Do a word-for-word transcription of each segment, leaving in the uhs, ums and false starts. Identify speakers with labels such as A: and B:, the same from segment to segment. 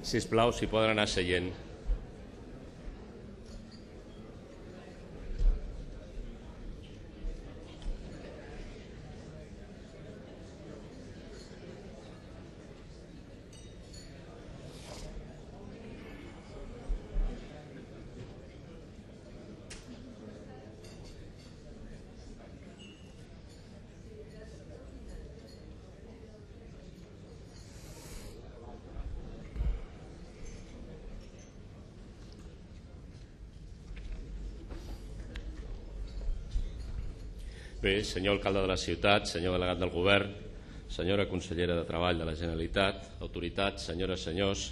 A: Sisplau, si poden anar seient. Bé, senyor alcalde de la ciutat, senyor delegat del govern, senyora consellera de Treball de la Generalitat, autoritats, senyores, senyors,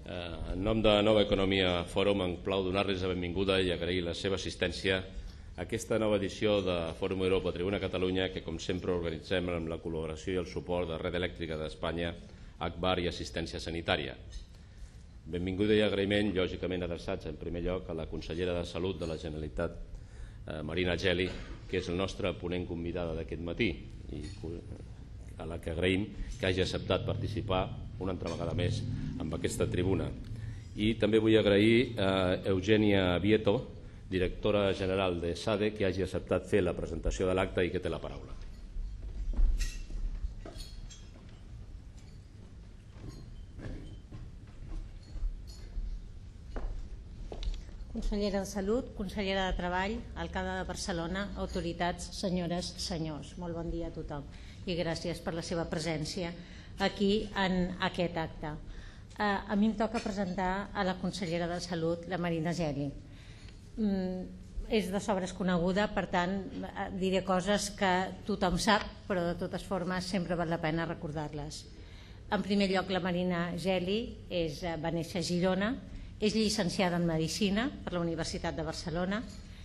A: eh, en nom de Nova Economia Fòrum em plau donar-los la benvinguda i agrair la seva assistència a aquesta nova edició de Fòrum Europa Tribuna Catalunya que, com sempre, organitzem amb la col·laboració i el suport de Red Elèctrica d'Espanya, Agbar i Assistència Sanitària. Benvinguda i agraïment, lògicament adreçats en primer lloc a la consellera de Salut de la Generalitat, Marina Geli, que és el nostre ponent convidada d'aquest matí i a la que agraïm que hagi acceptat participar una altra vegada més en aquesta tribuna. I també vull agrair a Eugènia Vieto, directora general de SADE, que hagi acceptat fer la presentació de l'acte i que té la paraula.
B: Consellera de Salut, consellera de Treball, alcalde de Barcelona, autoritats, senyores, senyors. Molt bon dia a tothom i gràcies per la seva presència aquí en aquest acte. A mi em toca presentar a la consellera de Salut, la Marina Geli. És de sobres coneguda, per tant diré coses que tothom sap, però de totes formes sempre val la pena recordar-les. En primer lloc, la Marina Geli va néixer a Girona. És llicenciada en Medicina per la Universitat de Barcelona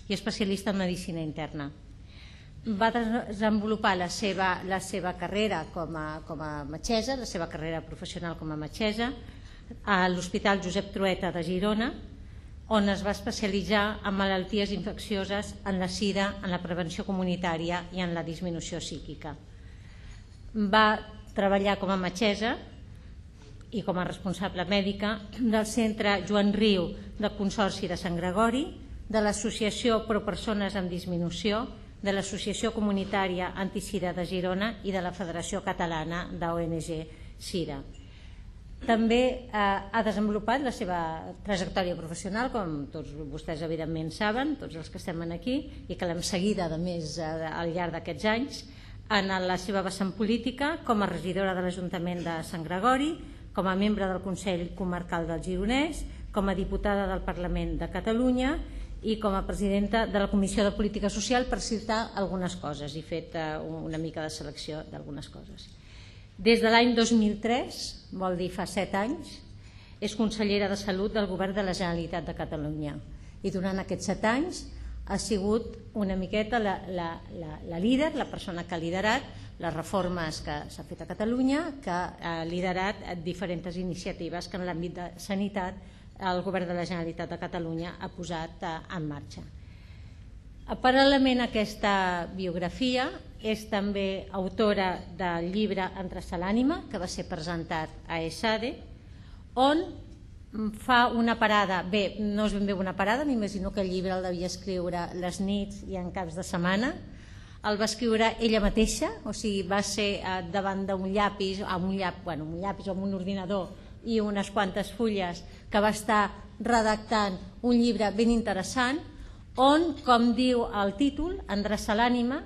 B: i especialista en Medicina Interna. Va desenvolupar la seva, la seva carrera com a, com a metgessa, la seva carrera professional com a metgessa, a l'Hospital Josep Trueta de Girona, on es va especialitzar en malalties infeccioses, en la sida, en la prevenció comunitària i en la disminució psíquica. Va treballar com a metgessa i com a responsable mèdica del Centre Joan Riu del Consorci de Sant Gregori, de l'Associació Pro Persones amb Disminució, de l'Associació Comunitària Antisida de Girona i de la Federació Catalana d'O N G Sida. També ha desenvolupat la seva trajectòria professional, com tots vostès evidentment saben, tots els que estem aquí, i que l'hem seguida a més al llarg d'aquests anys, en la seva vessant política com a regidora de l'Ajuntament de Sant Gregori, com a membre del Consell Comarcal del Gironès, com a diputada del Parlament de Catalunya i com a presidenta de la Comissió de Política Social, per citar algunes coses. He fet una mica de selecció d'algunes coses. Des de l'any dos mil tres, vol dir fa set anys, és consellera de Salut del Govern de la Generalitat de Catalunya. I durant aquests set anys ha sigut una miqueta la, la, la, la líder, la persona que ha liderat les reformes que s'ha fet a Catalunya, que ha liderat diferents iniciatives que en l'àmbit de sanitat el Govern de la Generalitat de Catalunya ha posat en marxa. Paral·lelament a aquesta biografia, és també autora del llibre Endreçar l'ànima, que va ser presentat a ESADE, on fa una parada, bé, no és ben bé una parada, m'imagino que el llibre el devia escriure les nits i en caps de setmana. El va escriure ella mateixa, o sigui, va ser davant d'un llapis, amb un llapis, bueno, un llapis o amb un ordinador i unes quantes fulles, que va estar redactant un llibre ben interessant, on, com diu el títol, Endreçar l'ànima,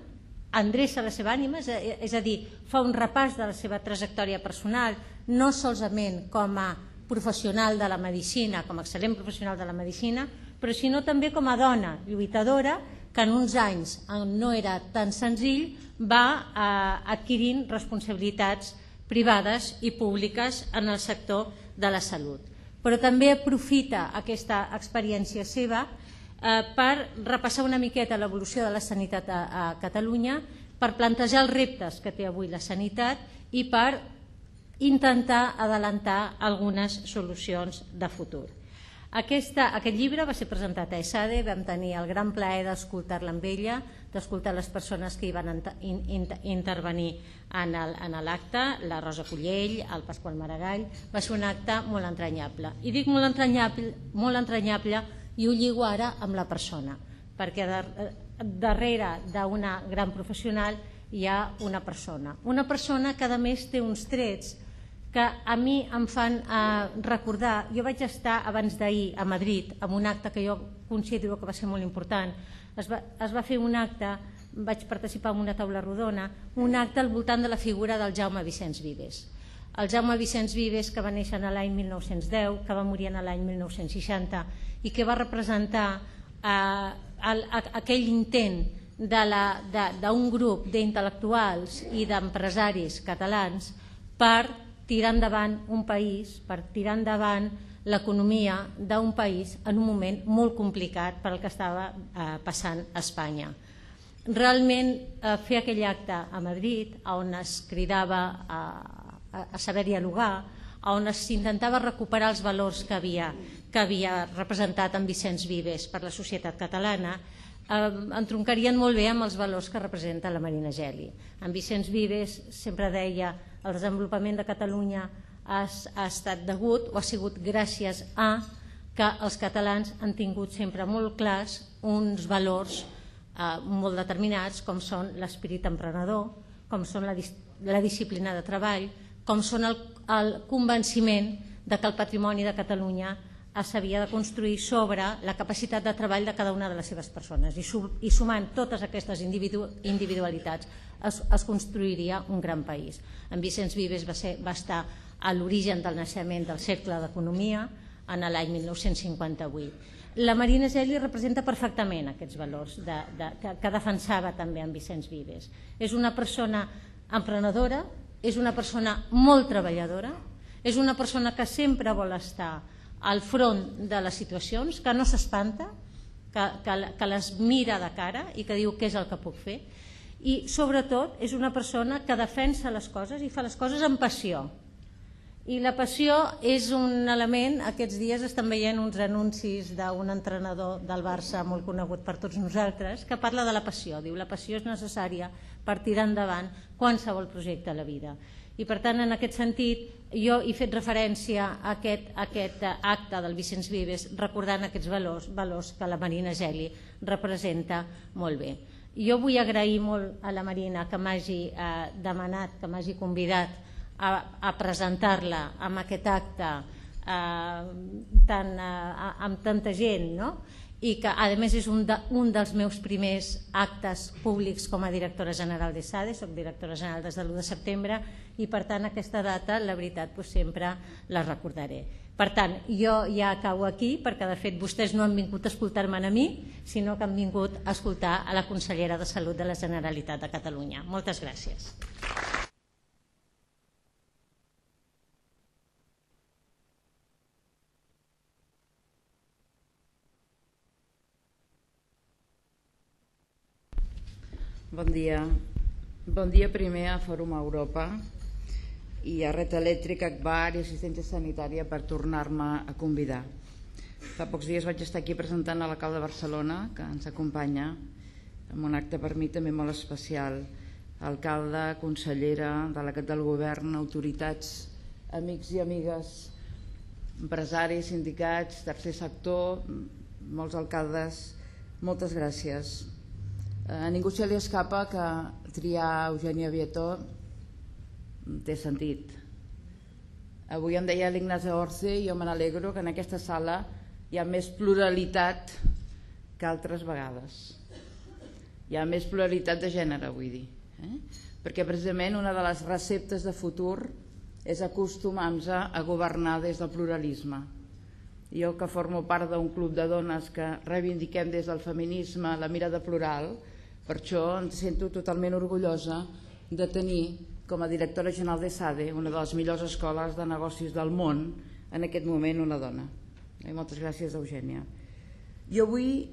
B: endreça la seva ànima, és a dir, fa un repàs de la seva trajectòria personal, no solament com a professional de la medicina, com a excel·lent professional de la medicina, però sinó també com a dona lluitadora que en uns anys no era tan senzill, va adquirint responsabilitats privades i públiques en el sector de la salut. Però també aprofita aquesta experiència seva per repassar una miqueta l'evolució de la sanitat a Catalunya, per plantejar els reptes que té avui la sanitat i per intentar adelantar algunes solucions de futur. Aquest llibre va ser presentat a ESADE, vam tenir el gran plaer d'escoltar-la amb ella, d'escoltar les persones que hi van intervenir en l'acte, la Rosa Collell, el Pasqual Maragall. Va ser un acte molt entranyable. I dic molt entranyable i ho lligo ara amb la persona, perquè darrere d'una gran professional hi ha una persona. Una persona que a més té uns trets que a mi em fan recordar. Jo vaig estar abans d'ahir a Madrid amb un acte que jo considero que va ser molt important. Es va fer un acte, vaig participar en una taula rodona, un acte al voltant de la figura del Jaume Vicenç Vives. El Jaume Vicenç Vives, que va néixer l'any mil nou-cents deu, que va morir l'any mil nou-cents seixanta i que va representar aquell intent d'un grup d'intel·lectuals i d'empresaris catalans per tirar endavant un país, per tirar endavant l'economia d'un país en un moment molt complicat per al que estava passant a Espanya. Realment fer aquell acte a Madrid, on es cridava a saber dialogar, on s'intentava recuperar els valors que havia representat en Vicenç Vives per la societat catalana, entroncarien molt bé amb els valors que representa la Marina Geli. En Vicenç Vives sempre deia: el desenvolupament de Catalunya ha estat degut o ha sigut gràcies a que els catalans han tingut sempre molt clars uns valors molt determinats, com són l'esperit emprenedor, com són la disciplina de treball, com són el convenciment que el patrimoni de Catalunya s'havia de construir sobre la capacitat de treball de cada una de les seves persones, i sumant totes aquestes individualitats es construiria un gran país. En Vicenç Vives va estar a l'origen del naixement del Cercle d'Economia en l'any mil nou-cents cinquanta-vuit. La Marina Geli representa perfectament aquests valors que defensava també en Vicenç Vives. És una persona emprenedora, és una persona molt treballadora, és una persona que sempre vol estar al front de les situacions, que no s'espanta, que les mira de cara i que diu què és el que puc fer, i sobretot és una persona que defensa les coses i fa les coses amb passió. I la passió és un element. Aquests dies estan veient uns anuncis d'un entrenador del Barça molt conegut per tots nosaltres que parla de la passió. Diu: la passió és necessària per tirar endavant qualsevol projecte a la vida. I per tant, en aquest sentit, jo he fet referència a aquest acte del Vicenç Vives recordant aquests valors que la Marina Geli representa molt bé. Jo vull agrair molt a la Marina que m'hagi demanat, que m'hagi convidat a presentar-la en aquest acte amb tanta gent, i que a més és un dels meus primers actes públics com a directora general d'ESADE. Soc directora general des de l'u de setembre i per tant aquesta data, la veritat, sempre la recordaré. Per tant, jo ja acabo aquí perquè de fet vostès no han vingut a escoltar-me a mi, sinó que han vingut a escoltar a la consellera de Salut de la Generalitat de Catalunya. Moltes gràcies.
C: Bon dia. Bon dia primer a Fòrum Europa i a Red Elèctrica, A C B A R i Assistència Sanitària per tornar-me a convidar. Fa pocs dies vaig estar aquí presentant a l'alcalde de Barcelona, que ens acompanya, en un acte per mi també molt especial. Alcalde, consellera, delegat del govern, autoritats, amics i amigues, empresaris, sindicats, tercer sector, molts alcaldes, moltes gràcies. A ningú se li escapa que triar Eugènia Vietó té sentit. Avui em deia l'Ignasi Orce i jo me n'alegro que en aquesta sala hi ha més pluralitat que altres vegades. Hi ha més pluralitat de gènere, vull dir. Perquè precisament una de les receptes de futur és acostumar-nos a governar des del pluralisme. Jo, que formo part d'un club de dones que reivindiquem des del feminisme la mirada plural, per això em sento totalment orgullosa de tenir com a directora general d'ESADE una de les millors escoles de negocis del món, en aquest moment una dona. I moltes gràcies, Eugènia. Jo avui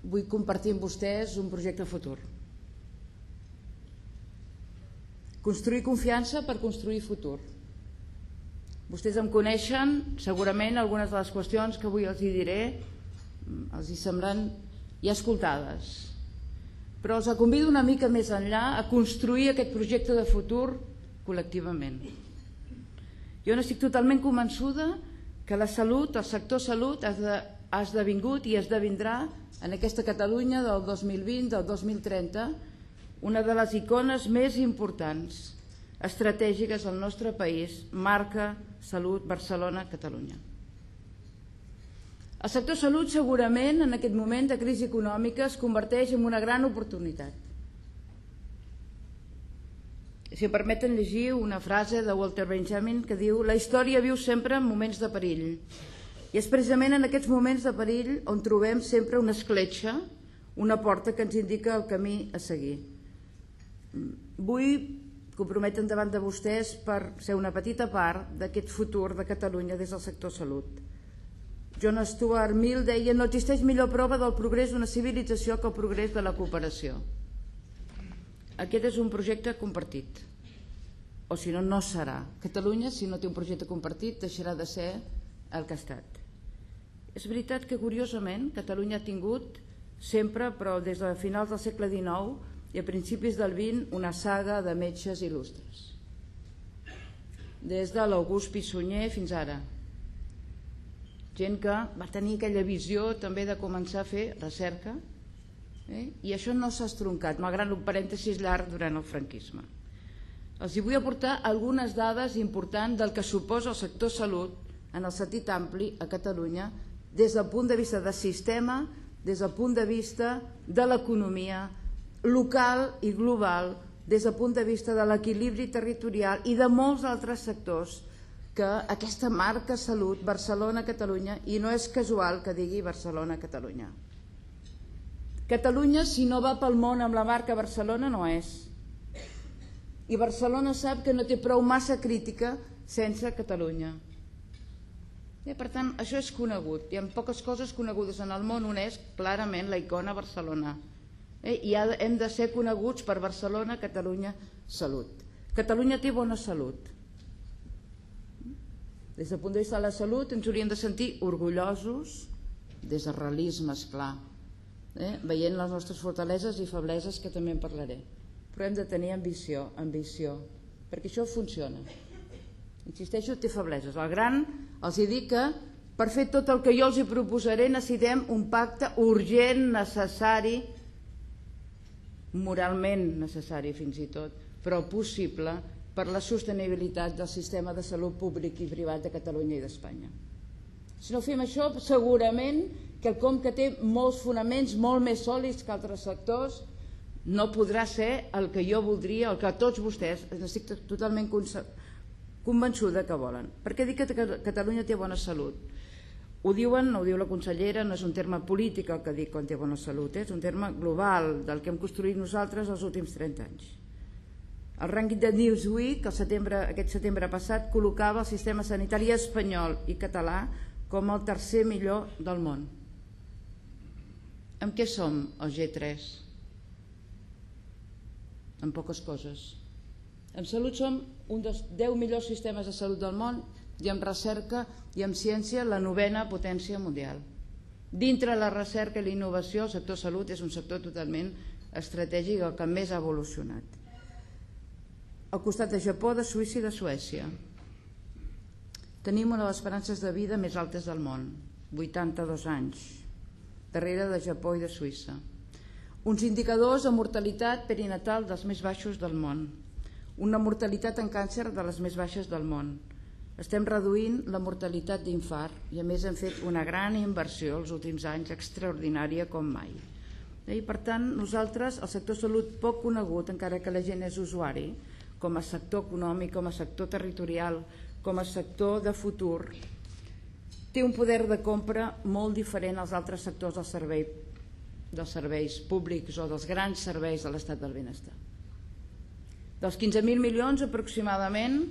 C: vull compartir amb vostès un projecte futur. Construir confiança per construir futur. Vostès em coneixen, segurament algunes de les qüestions que avui els hi diré els hi semblen ja escoltades, però els convido una mica més enllà a construir aquest projecte de futur col·lectivament. Jo n'estic totalment convençuda que la salut, el sector salut ha esdevingut i esdevindrà en aquesta Catalunya del dos mil vint, del dos mil trenta, una de les icones més importants, estratègiques al nostre país, marca Salut Barcelona-Catalunya. El sector salut segurament en aquest moment de crisi econòmica es converteix en una gran oportunitat. Si em permeten llegir una frase de Walter Benjamin que diu: la història viu sempre en moments de perill, i és precisament en aquests moments de perill on trobem sempre una escletxa, una porta que ens indica el camí a seguir. Vull comprometre davant de vostès per ser una petita part d'aquest futur de Catalunya des del sector salut. John Stuart Mill deia: no existeix millor prova del progrés d'una civilització que el progrés de la cooperació. Aquest és un projecte compartit, o si no, no serà. Catalunya, si no té un projecte compartit, deixarà de ser el que ha estat. És veritat que, curiosament, Catalunya ha tingut sempre, però des de finals del segle dinou i a principis del vint, una saga de metges il·lustres. Des de l'August Pi i Sunyer fins ara. Gent que va tenir aquella visió també de començar a fer recerca, eh? I això no s'ha estroncat, malgrat un parèntesis llarg durant el franquisme. Els hi vull aportar algunes dades importants del que suposa el sector salut en el sentit ampli a Catalunya des del punt de vista del sistema, des del punt de vista de l'economia local i global, des del punt de vista de l'equilibri territorial i de molts altres sectors que aquesta marca salut Barcelona-Catalunya, i no és casual que digui Barcelona-Catalunya. Catalunya, si no va pel món amb la marca Barcelona, no és. I Barcelona sap que no té prou massa crítica sense Catalunya. I, per tant, això és conegut. Hi ha poques coses conegudes en el món. Una és clarament la icona Barcelona. Eh? I hem de ser coneguts per Barcelona, Catalunya, salut. Catalunya té bona salut. Des del punt de vista de la salut ens hauríem de sentir orgullosos, des del realisme, esclar, eh? veient les nostres fortaleses i febleses, que també en parlaré. Però hem de tenir ambició, ambició, perquè això funciona. Insisteixo, té febleses. El gran els dic que per fer tot el que jo els hi proposaré necessitem un pacte urgent, necessari, moralment necessari fins i tot, però possible, per la sostenibilitat del sistema de salut públic i privat de Catalunya i d'Espanya. Si no fem això, segurament quelcom que té molts fonaments molt més sòlids que altres sectors no podrà ser el que jo voldria, el que tots vostès, estic totalment convençuda que volen. Per què dic que Catalunya té bona salut? Ho diuen, ho diu la consellera, no és un terme polític el que dic quan té bona salut, és un terme global del que hem construït nosaltres els últims trenta anys. El rànquing de Newsweek aquest setembre passat col·locava el sistema sanitari espanyol i català com el tercer millor del món. Amb què som el G tres? En poques coses. En salut som un dels deu millors sistemes de salut del món i en recerca i en ciència la novena potència mundial. Dintre la recerca i la innovació, el sector salut és un sector totalment estratègic, el que més ha evolucionat. Al costat de Japó, de Suïssa i de Suècia. Tenim una de les esperances de vida més altes del món, vuitanta-dos anys, darrere de Japó i de Suïssa. Uns indicadors de mortalitat perinatal dels més baixos del món, una mortalitat en càncer de les més baixes del món. Estem reduint la mortalitat d'infart i a més hem fet una gran inversió els últims anys, extraordinària com mai. I per tant, nosaltres, el sector salut poc conegut, encara que la gent és usuari, com a sector econòmic, com a sector territorial, com a sector de futur, té un poder de compra molt diferent als altres sectors del servei, dels serveis públics o dels grans serveis de l'estat del benestar. Dels quinze mil milions aproximadament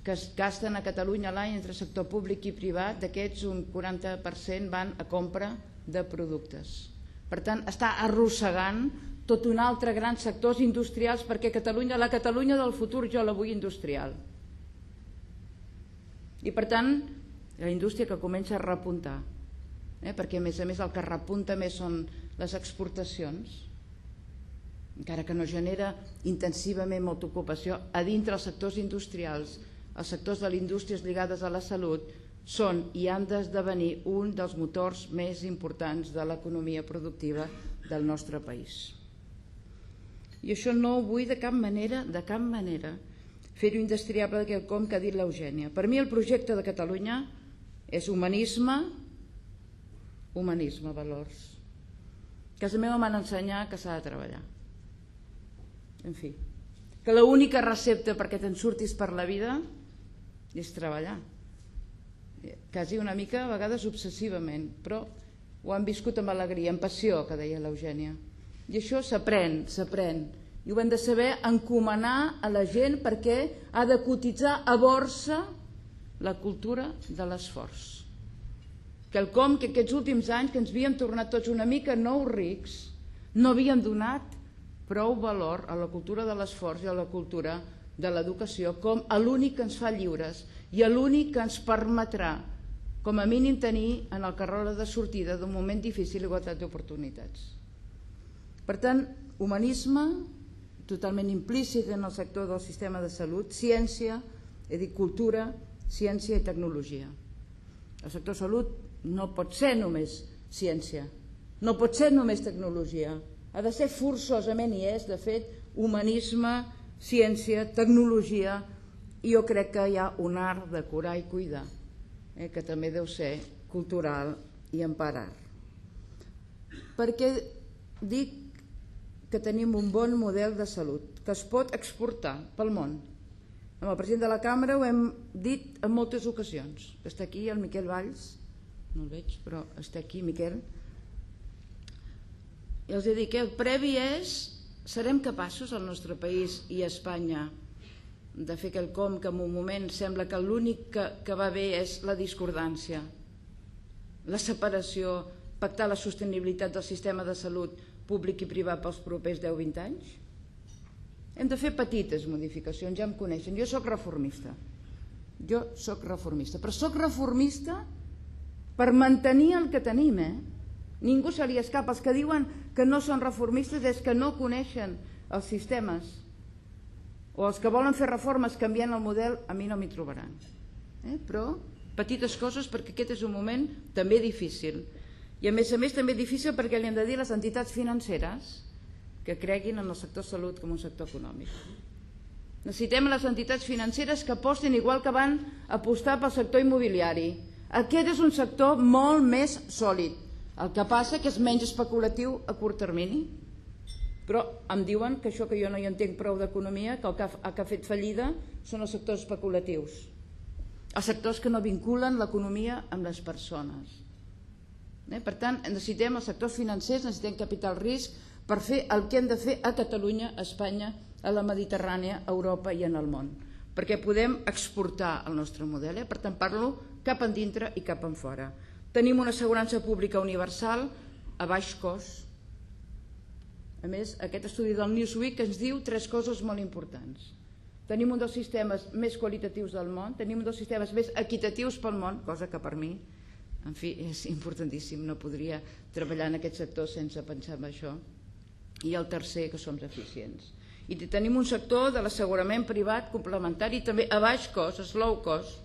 C: que es gasten a Catalunya l'any entre sector públic i privat, d'aquests un quaranta per cent van a compra de productes. Per tant, està arrossegant tot un altre gran sectors industrials, perquè Catalunya, la Catalunya del futur jo la vull industrial. I per tant, la indústria que comença a repuntar, eh? perquè a més a més el que repunta més són les exportacions, encara que no genera intensivament molta ocupació, a dintre els sectors industrials, els sectors de les indústries lligades a la salut, són i han d'esdevenir un dels motors més importants de l'economia productiva del nostre país. I això no ho vull de cap manera, de cap manera, fer-ho indestriable de quelcom que ha dit l'Eugènia. Per mi el projecte de Catalunya és humanisme, humanisme, valors. A casa meva m'han ensenyat que s'ha de treballar. En fi, que l'única recepta perquè te'n surtis per la vida és treballar. Quasi una mica, a vegades obsessivament, però ho han viscut amb alegria, amb passió, que deia l'Eugènia. I això s'aprèn, s'aprèn. I ho hem de saber encomanar a la gent perquè ha de cotitzar a borsa la cultura de l'esforç. Quelcom que aquests últims anys, que ens havíem tornat tots una mica nous rics, no havíem donat prou valor a la cultura de l'esforç i a la cultura de l'educació com a l'únic que ens fa lliures i a l'únic que ens permetrà, com a mínim, tenir en el carreró de sortida d'un moment difícil igualtat d'oportunitats. Per tant, humanisme totalment implícit en el sector del sistema de salut, ciència, he dit cultura, ciència i tecnologia. El sector salut no pot ser només ciència, no pot ser només tecnologia, ha de ser forçosament, i és, de fet, humanisme, ciència, tecnologia, i jo crec que hi ha un art de curar i cuidar, eh, que també deu ser cultural i emparar. Perquè dic que tenim un bon model de salut, que es pot exportar pel món. Amb el president de la Cambra ho hem dit en moltes ocasions. Està aquí el Miquel Valls, no el veig, però està aquí, Miquel. I els he dit que el previ és, serem capaços al nostre país i a Espanya de fer quelcom que en un moment sembla que l'únic que, que va bé és la discordància, la separació, pactar la sostenibilitat del sistema de salut públic i privat pels propers deu a vint anys? Hem de fer petites modificacions, ja em coneixen. Jo soc reformista. Jo soc reformista. Però soc reformista per mantenir el que tenim, eh? Ningú se li escapa. Els que diuen que no són reformistes és que no coneixen els sistemes. O els que volen fer reformes canviant el model, a mi no m'hi trobaran. Eh? Però petites coses, perquè aquest és un moment també difícil. I a més a més també difícil perquè li hem de dir a les entitats financeres que creguin en el sector salut com un sector econòmic. Necessitem les entitats financeres que apostin igual que van apostar pel sector immobiliari. Aquest és un sector molt més sòlid. El que passa que és menys especulatiu a curt termini. Però em diuen que això que jo no hi entenc prou d'economia, que el que ha, que ha fet fallida són els sectors especulatius. Els sectors que no vinculen l'economia amb les persones. Per tant, necessitem els sectors financers, necessitem capital risc per fer el que hem de fer a Catalunya, a Espanya, a la Mediterrània, a Europa i en el món, perquè podem exportar el nostre model. Per tant, parlo cap endintre i cap en fora. Tenim una assegurança pública universal a baix cost. A més, aquest estudi del Newsweek ens diu tres coses molt importants. Tenim un dels sistemes més qualitatius del món, tenim un dels sistemes més equitatius pel món, cosa que per mi, en fi, és importantíssim, no podria treballar en aquest sector sense pensar en això. I el tercer, que som eficients. I tenim un sector de l'assegurament privat complementari també a baix cost, slow cost,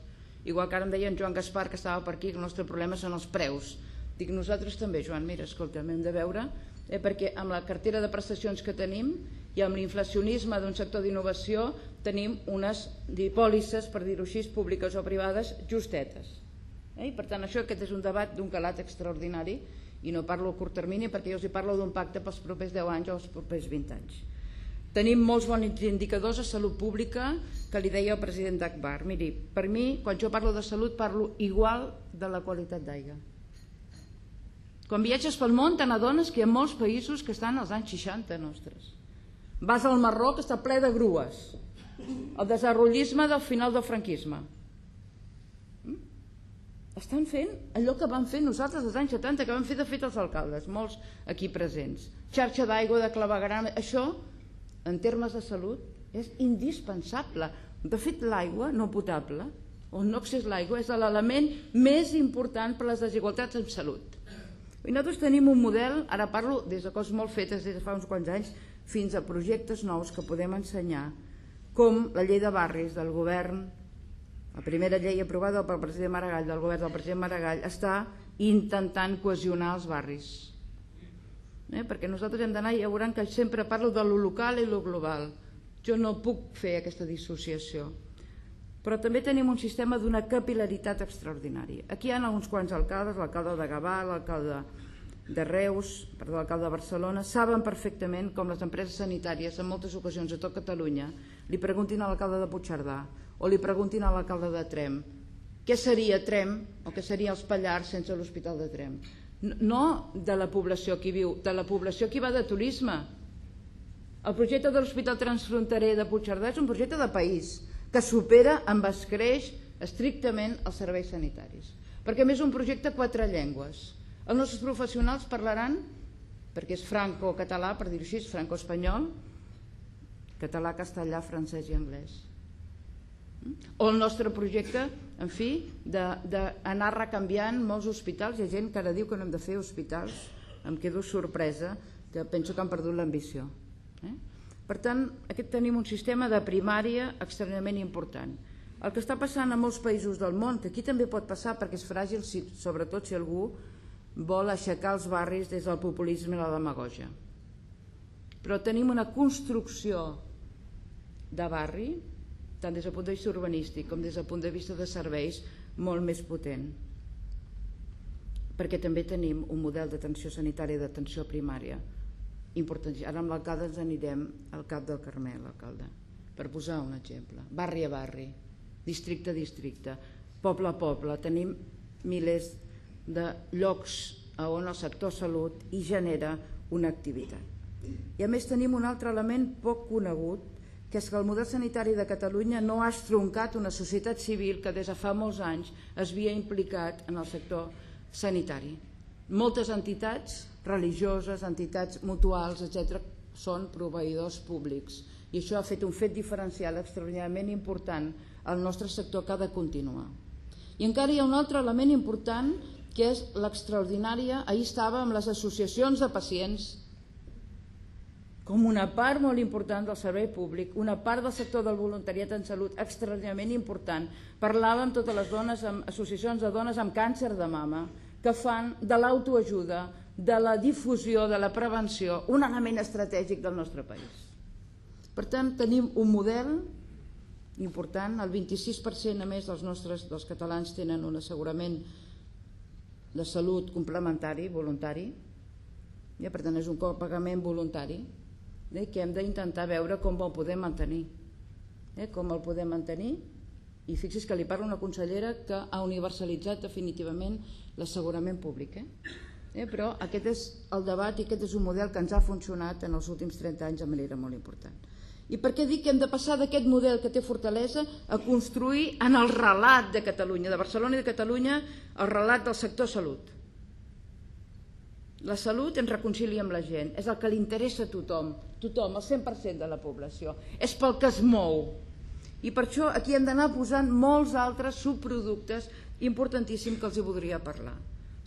C: igual que ara em deia en Joan Gaspar, que estava per aquí, que el nostre problema són els preus. Dic, nosaltres també, Joan, mira, escolta, hem de veure, eh, perquè amb la cartera de prestacions que tenim i amb l'inflacionisme d'un sector d'innovació tenim unes pòlisses, per dir-ho així, públiques o privades, justetes. I per tant això aquest és un debat d'un calat extraordinari i no parlo a curt termini perquè jo us hi parlo d'un pacte pels propers deu anys o els propers vint anys. Tenim molts bons indicadors de salut pública que li deia el president d'Agbar. Miri, per mi, quan jo parlo de salut, parlo igual de la qualitat d'aigua. Quan viatges pel món te n'adones que hi ha molts països que estan als anys seixanta nostres. Vas al Marroc, està ple de grues. El desenvolupisme del final del franquisme. Estan fent allò que vam fer nosaltres als anys setanta, que vam fer de fet els alcaldes, molts aquí presents. Xarxa d'aigua, de clavegueram, això, en termes de salut, és indispensable. De fet, l'aigua no potable on no accés l'aigua és l'element més important per a les desigualtats en salut. I nosaltres tenim un model, ara parlo des de coses molt fetes des de fa uns quants anys fins a projectes nous que podem ensenyar, com la llei de barris del govern, la primera llei aprovada pel president Maragall, del govern del president Maragall, està intentant cohesionar els barris. Eh? Perquè nosaltres hem d'anar, ja veuran que sempre parlo de lo local i lo global. Jo no puc fer aquesta dissociació. Però també tenim un sistema d'una capil·laritat extraordinària. Aquí hi ha uns quants alcaldes, l'alcalde de Gavà, l'alcalde de Reus, perdó, l'alcalde de Barcelona, saben perfectament com les empreses sanitàries, en moltes ocasions a tot Catalunya, li preguntin a l'alcalde de Puigcerdà o li preguntin a l'alcalde de Tremp què seria Tremp o què seria els Pallars sense l'Hospital de Tremp. No de la població que hi viu, de la població que hi va de turisme. El projecte de l'Hospital Transfronterer de Puigcerdà és un projecte de país que supera amb escreix estrictament els serveis sanitaris. Perquè a més és un projecte a quatre llengües. Els nostres professionals parlaran, perquè és franco-català, per dir-ho així, franco-espanyol, català, castellà, francès i anglès. O el nostre projecte, en fi, d'anar recanviant molts hospitals. Hi ha gent que ara diu que no hem de fer hospitals, em quedo sorpresa, que penso que han perdut l'ambició. Per tant, aquest tenim un sistema de primària extremadament important. El que està passant a molts països del món, que aquí també pot passar perquè és fràgil, sobretot si algú vol aixecar els barris des del populisme i la demagogia. Però tenim una construcció de barri, tant des del punt de vista urbanístic com des del punt de vista de serveis, molt més potent. Perquè també tenim un model d'atenció sanitària i d'atenció primària importantíssim. Ara amb l'alcalde ens anirem al Cap del Carmel, alcalde, per posar un exemple. Barri a barri, districte a districte, poble a poble, tenim milers de llocs on el sector salut hi genera una activitat. I a més tenim un altre element poc conegut, que és que el model sanitari de Catalunya no ha estroncat una societat civil que des de fa molts anys es havia implicat en el sector sanitari. Moltes entitats religioses, entitats mutuals, etcètera, són proveïdors públics i això ha fet un fet diferencial extraordinàriament important al nostre sector que ha de continuar. I encara hi ha un altre element important que és l'extraordinària, ahir estava amb les associacions de pacients com una part molt important del servei públic, una part del sector del voluntariat en salut extraordinàriament important. Parlava amb totes les dones, amb associacions de dones amb càncer de mama, que fan de l'autoajuda, de la difusió, de la prevenció, un element estratègic del nostre país. Per tant, tenim un model important, el vint-i-sis per cent a més dels nostres dels catalans tenen un assegurament de salut complementari, voluntari, ja, per tant és un copagament voluntari, eh, que hem d'intentar veure com el podem mantenir, eh, com el podem mantenir, i fixi's que li parla una consellera que ha universalitzat definitivament l'assegurament públic, eh? Eh, però aquest és el debat i aquest és un model que ens ha funcionat en els últims trenta anys de manera molt important. I per què dic que hem de passar d'aquest model que té fortalesa a construir en el relat de Catalunya, de Barcelona i de Catalunya, el relat del sector salut? La salut ens reconcilia amb la gent, és el que li interessa a tothom, tothom, el cent per cent de la població, és pel que es mou. I per això aquí hem d'anar posant molts altres subproductes importantíssims que els hi voldria parlar.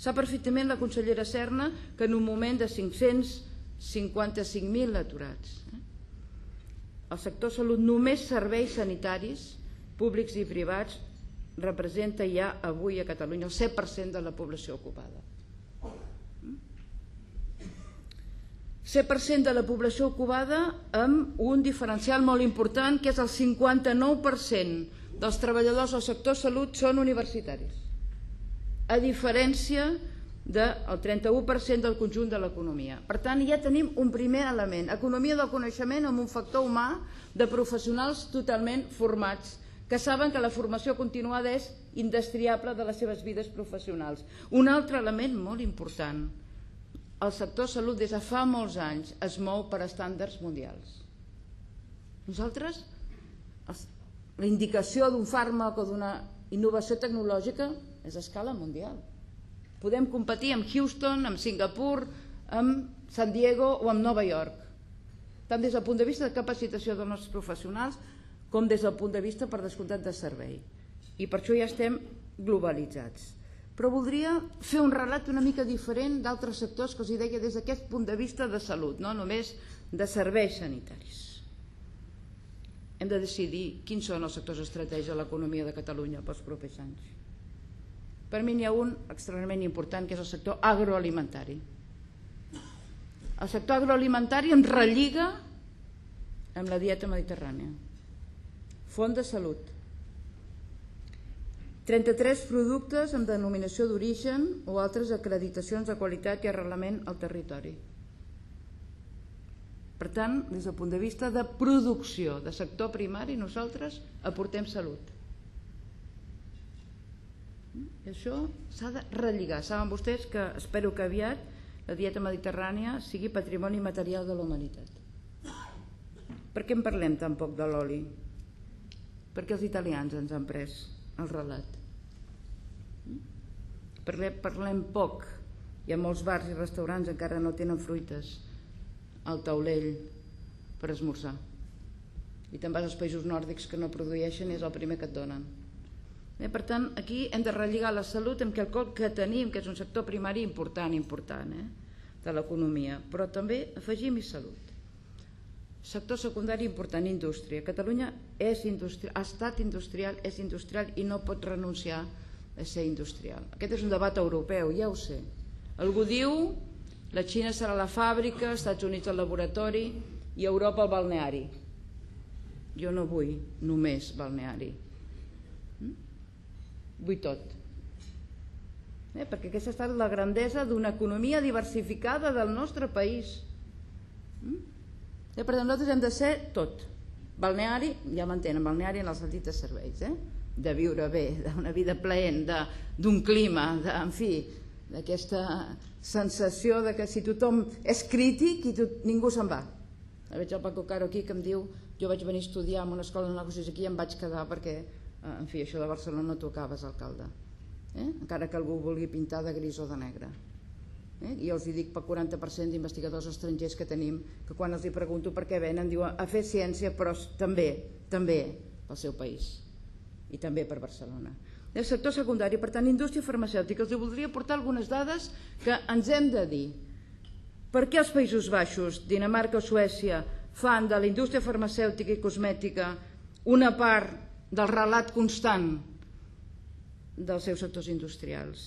C: Sap perfectament la consellera Serna que en un moment de cinc-cents cinquanta-cinc mil aturats, el sector salut, només serveis sanitaris públics i privats, representa ja avui a Catalunya el set per cent de la població ocupada. set per cent de la població ocupada amb un diferencial molt important, que és el cinquanta-nou per cent dels treballadors del sector salut són universitaris, a diferència del trenta-u per cent del conjunt de l'economia. Per tant, ja tenim un primer element, economia del coneixement amb un factor humà de professionals totalment formats, que saben que la formació continuada és indestriable de les seves vides professionals. Un altre element molt important, el sector salut des de fa molts anys es mou per estàndards mundials. Nosaltres, la indicació d'un fàrmac o d'una innovació tecnològica és a escala mundial. Podem competir amb Houston, amb Singapur, amb San Diego o amb Nova York, tant des del punt de vista de capacitació dels nostres professionals com des del punt de vista, per descomptat, de servei. i per això ja estem globalitzats. Però voldria fer un relat una mica diferent d'altres sectors que els deia des d'aquest punt de vista de salut, no només de serveis sanitaris. Hem de decidir quins són els sectors estratègics de l'economia de Catalunya pels propers anys. Per mi n'hi ha un extremadament important, que és el sector agroalimentari. El sector agroalimentari em relliga amb la dieta mediterrània. Font de salut. trenta-tres productes amb denominació d'origen o altres acreditacions de qualitat i arrelament al territori. Per tant, des del punt de vista de producció de sector primari, nosaltres aportem salut. I això s'ha de relligar. Saben vostès que espero que aviat la dieta mediterrània sigui patrimoni material de la humanitat. Per què en parlem tan poc de l'oli? Perquè els italians ens han pres el relat. Parlem, parlem poc, i a molts bars i restaurants encara no tenen fruites al taulell per esmorzar. I te'n vas als països nòrdics que no produeixen i és el primer que et donen. Eh, per tant, aquí hem de relligar la salut amb quelcom que tenim, que és un sector primari important, important eh, de l'economia, però també afegim-hi salut. Sector secundari important, indústria. Catalunya és industrial, ha estat industrial, és industrial i no pot renunciar a ser industrial. Aquest és un debat europeu, ja ho sé. Algú diu la Xina serà la fàbrica, els Estats Units el laboratori i Europa el balneari. Jo no vull només balneari. Vull tot. Eh, perquè aquesta ha estat la grandesa d'una economia diversificada del nostre país. Eh, per tant, nosaltres hem de ser tot. Balneari, ja m'entenen, balneari en el sentit de serveis, eh? De viure bé, d'una vida plaent, d'un clima, de, en fi, d'aquesta sensació de que si tothom és crític i tot, ningú se'n va. Veig el Paco Caro aquí que em diu jo vaig venir a estudiar en una escola de negocis aquí i em vaig quedar perquè, en fi, això de Barcelona tu acabes, alcalde. Eh? Encara que algú vulgui pintar de gris o de negre. Eh? I els hi dic pel quaranta per cent d'investigadors estrangers que tenim, que quan els hi pregunto per què venen, diuen a fer ciència, però també, també pel seu país i també per Barcelona. El sector secundari, per tant, indústria farmacèutica. Els voldria portar algunes dades que ens hem de dir. Per què els Països Baixos, Dinamarca o Suècia fan de la indústria farmacèutica i cosmètica una part del relat constant dels seus sectors industrials?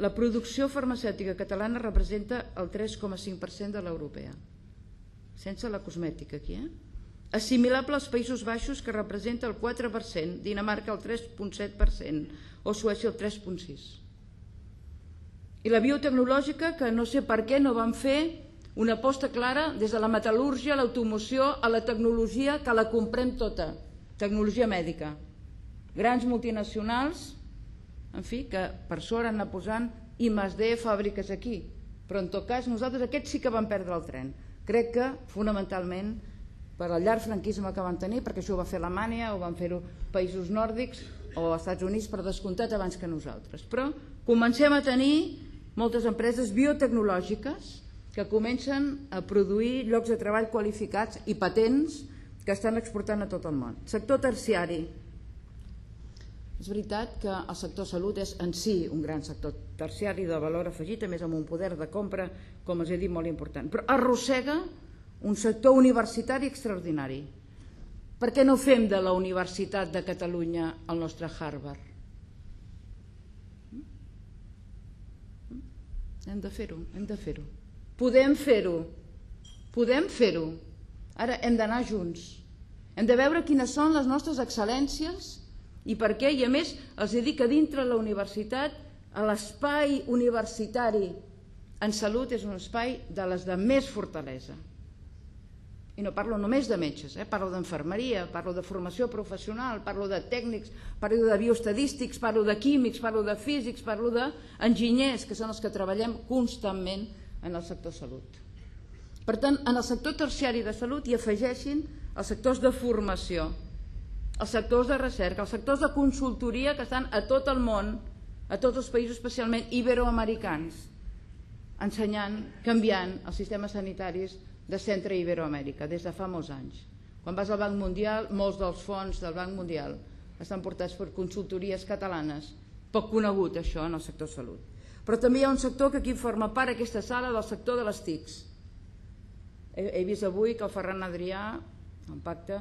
C: La producció farmacèutica catalana representa el tres coma cinc per cent de l'europea, sense la cosmètica aquí, eh? Assimilable als Països Baixos, que representa el quatre per cent, Dinamarca el tres coma set per cent o Suècia el tres coma sis per cent. I la biotecnològica, que no sé per què no van fer una aposta clara des de la metal·lúrgia, l'automoció, a la tecnologia, que la comprem tota, tecnologia mèdica. Grans multinacionals, en fi, que per sort han anat posant I més D fàbriques aquí, però en tot cas nosaltres aquests sí que vam perdre el tren. Crec que fonamentalment per al llarg franquisme que van tenir, perquè això ho va fer Alemanya, ho van fer-ho països nòrdics o als Estats Units per descomptat abans que nosaltres. Però comencem a tenir moltes empreses biotecnològiques que comencen a produir llocs de treball qualificats i patents que estan exportant a tot el món. Sector terciari. És veritat que el sector salut és en si un gran sector terciari de valor afegit, a més amb un poder de compra, com els he dit, molt important, però arrossega un sector universitari extraordinari. Per què no fem de la Universitat de Catalunya el nostre Harvard? Hem de fer-ho, hem de fer-ho. Podem fer-ho, podem fer-ho. Ara hem d'anar junts. Hem de veure quines són les nostres excel·lències i per què, i a més els dic que dintre la universitat l'espai universitari en salut és un espai de les de més fortalesa. I no parlo només de metges, eh? Parlo d'infermeria, parlo de formació professional, parlo de tècnics, parlo de bioestadístics, parlo de químics, parlo de físics, parlo d'enginyers, que són els que treballem constantment en el sector salut. Per tant, en el sector terciari de salut hi afegeixin els sectors de formació, els sectors de recerca, els sectors de consultoria que estan a tot el món, a tots els països, especialment iberoamericans, ensenyant, canviant els sistemes sanitaris de Centre i Iberoamèrica des de fa molts anys. Quan vas al Banc Mundial, molts dels fons del Banc Mundial estan portats per consultories catalanes, poc conegut això en el sector salut. Però també hi ha un sector que aquí forma part aquesta sala del sector de les T I Cs. He, he vist avui que el Ferran Adrià, en pacte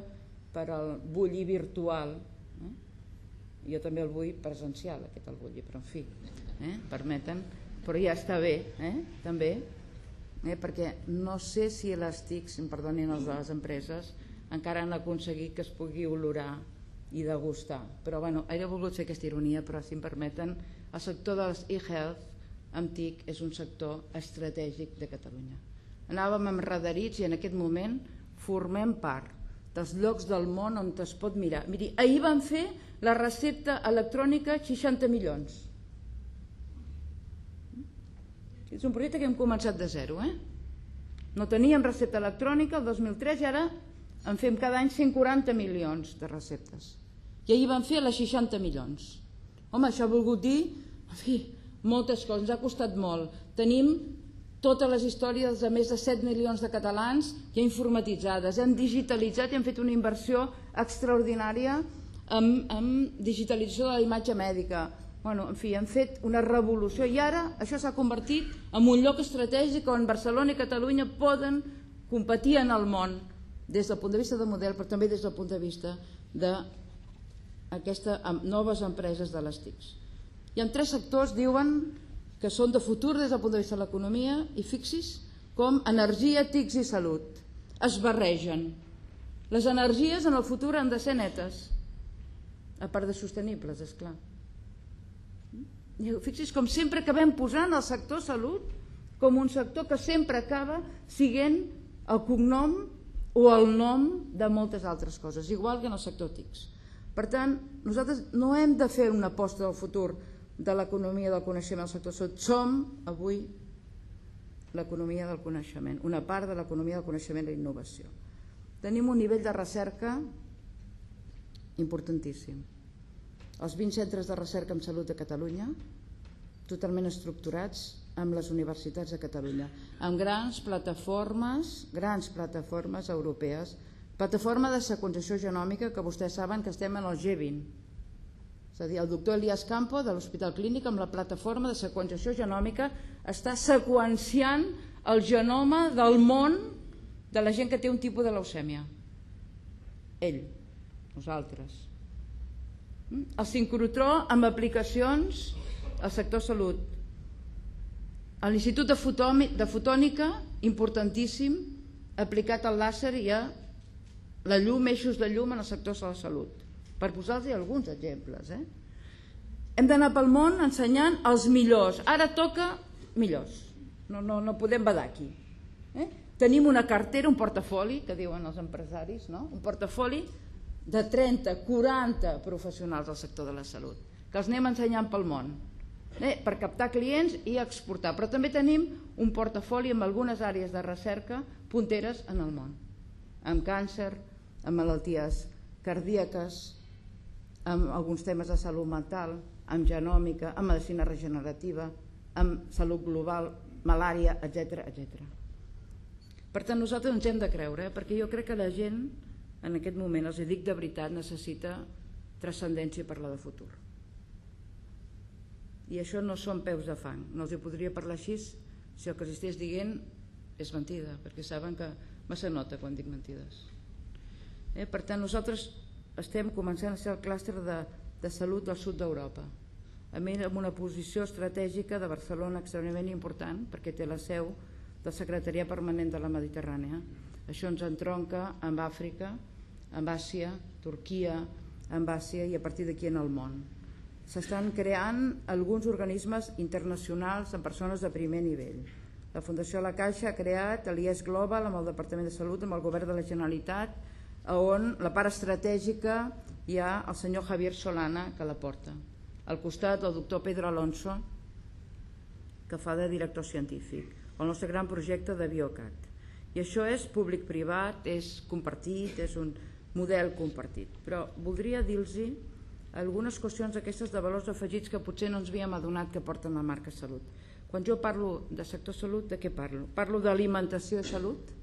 C: per al bulli virtual, eh? Jo també el vull presencial, aquest el bulli, però en fi, eh? permeten, però ja està bé, eh? també, eh? perquè no sé si les T I Cs, em perdonin els de les empreses, encara han aconseguit que es pugui olorar i degustar. Però bueno, he volgut fer aquesta ironia, però si em permeten, el sector dels e-health amb T I C és un sector estratègic de Catalunya. Anàvem enredarits i en aquest moment formem part dels llocs del món on es pot mirar. Miri, ahir van fer la recepta electrònica seixanta milions. És un projecte que hem començat de zero, eh? No teníem recepta electrònica el dos mil tres i ara en fem cada any cent quaranta milions de receptes. I ahir van fer les seixanta milions. Home, això ha volgut dir, en fi, moltes coses, ens ha costat molt. Tenim totes les històries de més de set milions de catalans ja informatitzades, hem digitalitzat i hem fet una inversió extraordinària en, en digitalització de la imatge mèdica. Bueno, en fi, hem fet una revolució i ara això s'ha convertit en un lloc estratègic on Barcelona i Catalunya poden competir en el món des del punt de vista de model, però també des del punt de vista d'aquestes noves empreses de les T I Cs. Hi ha tres sectors, diuen, que són de futur des del punt de vista de l'economia i fixis com energia, T I Cs i salut. Es barregen. Les energies en el futur han de ser netes, a part de sostenibles, esclar. Fixis com sempre acabem posant el sector salut com un sector que sempre acaba sent el cognom o el nom de moltes altres coses, igual que en el sector T I Cs. Per tant, nosaltres no hem de fer una aposta del futur de l'economia del coneixement al sector salut. Som avui l'economia del coneixement, una part de l'economia del coneixement i l'innovació. Tenim un nivell de recerca importantíssim. Els vint centres de recerca en salut de Catalunya, totalment estructurats amb les universitats de Catalunya, amb grans plataformes, grans plataformes europees, plataforma de seqüenciació genòmica, que vostès saben que estem en el G vint. És a dir, el doctor Elias Campo de l'Hospital Clínic amb la plataforma de seqüenciació genòmica està seqüenciant el genoma del món de la gent que té un tipus de leucèmia. Ell, nosaltres. El sincrotró amb aplicacions al sector salut. L'Institut de Fotònica, importantíssim, aplicat al làser i a la llum, eixos de llum en el sector de la salut. Per posar-los alguns exemples. Eh? Hem d'anar pel món ensenyant els millors. Ara toca millors. No, no, no podem badar aquí. Eh? Tenim una cartera, un portafoli, que diuen els empresaris, no? Un portafoli de trenta, quaranta professionals del sector de la salut, que els anem ensenyant pel món, eh? per captar clients i exportar. Però també tenim un portafoli amb algunes àrees de recerca punteres en el món, amb càncer, amb malalties cardíaques, amb alguns temes de salut mental, amb genòmica, amb medicina regenerativa, amb salut global, malària, etcètera, etcètera. Per tant, nosaltres ens hem de creure, eh? perquè jo crec que la gent, en aquest moment, els dic de veritat, necessita transcendència per la de futur. I això no són peus de fang. No els hi podria parlar així si el que els estigués dient és mentida, perquè saben que massa nota quan dic mentides. Eh? Per tant, nosaltres estem començant a ser el clúster de, de salut del sud d'Europa, amb una posició estratègica de Barcelona extremadament important, perquè té la seu del Secretariat Permanent de la Mediterrània. Això ens entronca amb Àfrica, amb Àsia, Turquia, amb Àsia i a partir d'aquí en el món. S'estan creant alguns organismes internacionals amb persones de primer nivell. La Fundació La Caixa ha creat l'I E S Global amb el Departament de Salut, amb el Govern de la Generalitat, on la part estratègica hi ha el senyor Javier Solana que la porta. Al costat el doctor Pedro Alonso, que fa de director científic, el nostre gran projecte de Biocat. I això és públic-privat, és compartit, és un model compartit. Però voldria dir-los algunes qüestions aquestes de valors afegits que potser no ens havíem adonat que porten la marca Salut. Quan jo parlo de sector salut, de què parlo? Parlo d'alimentació i salut?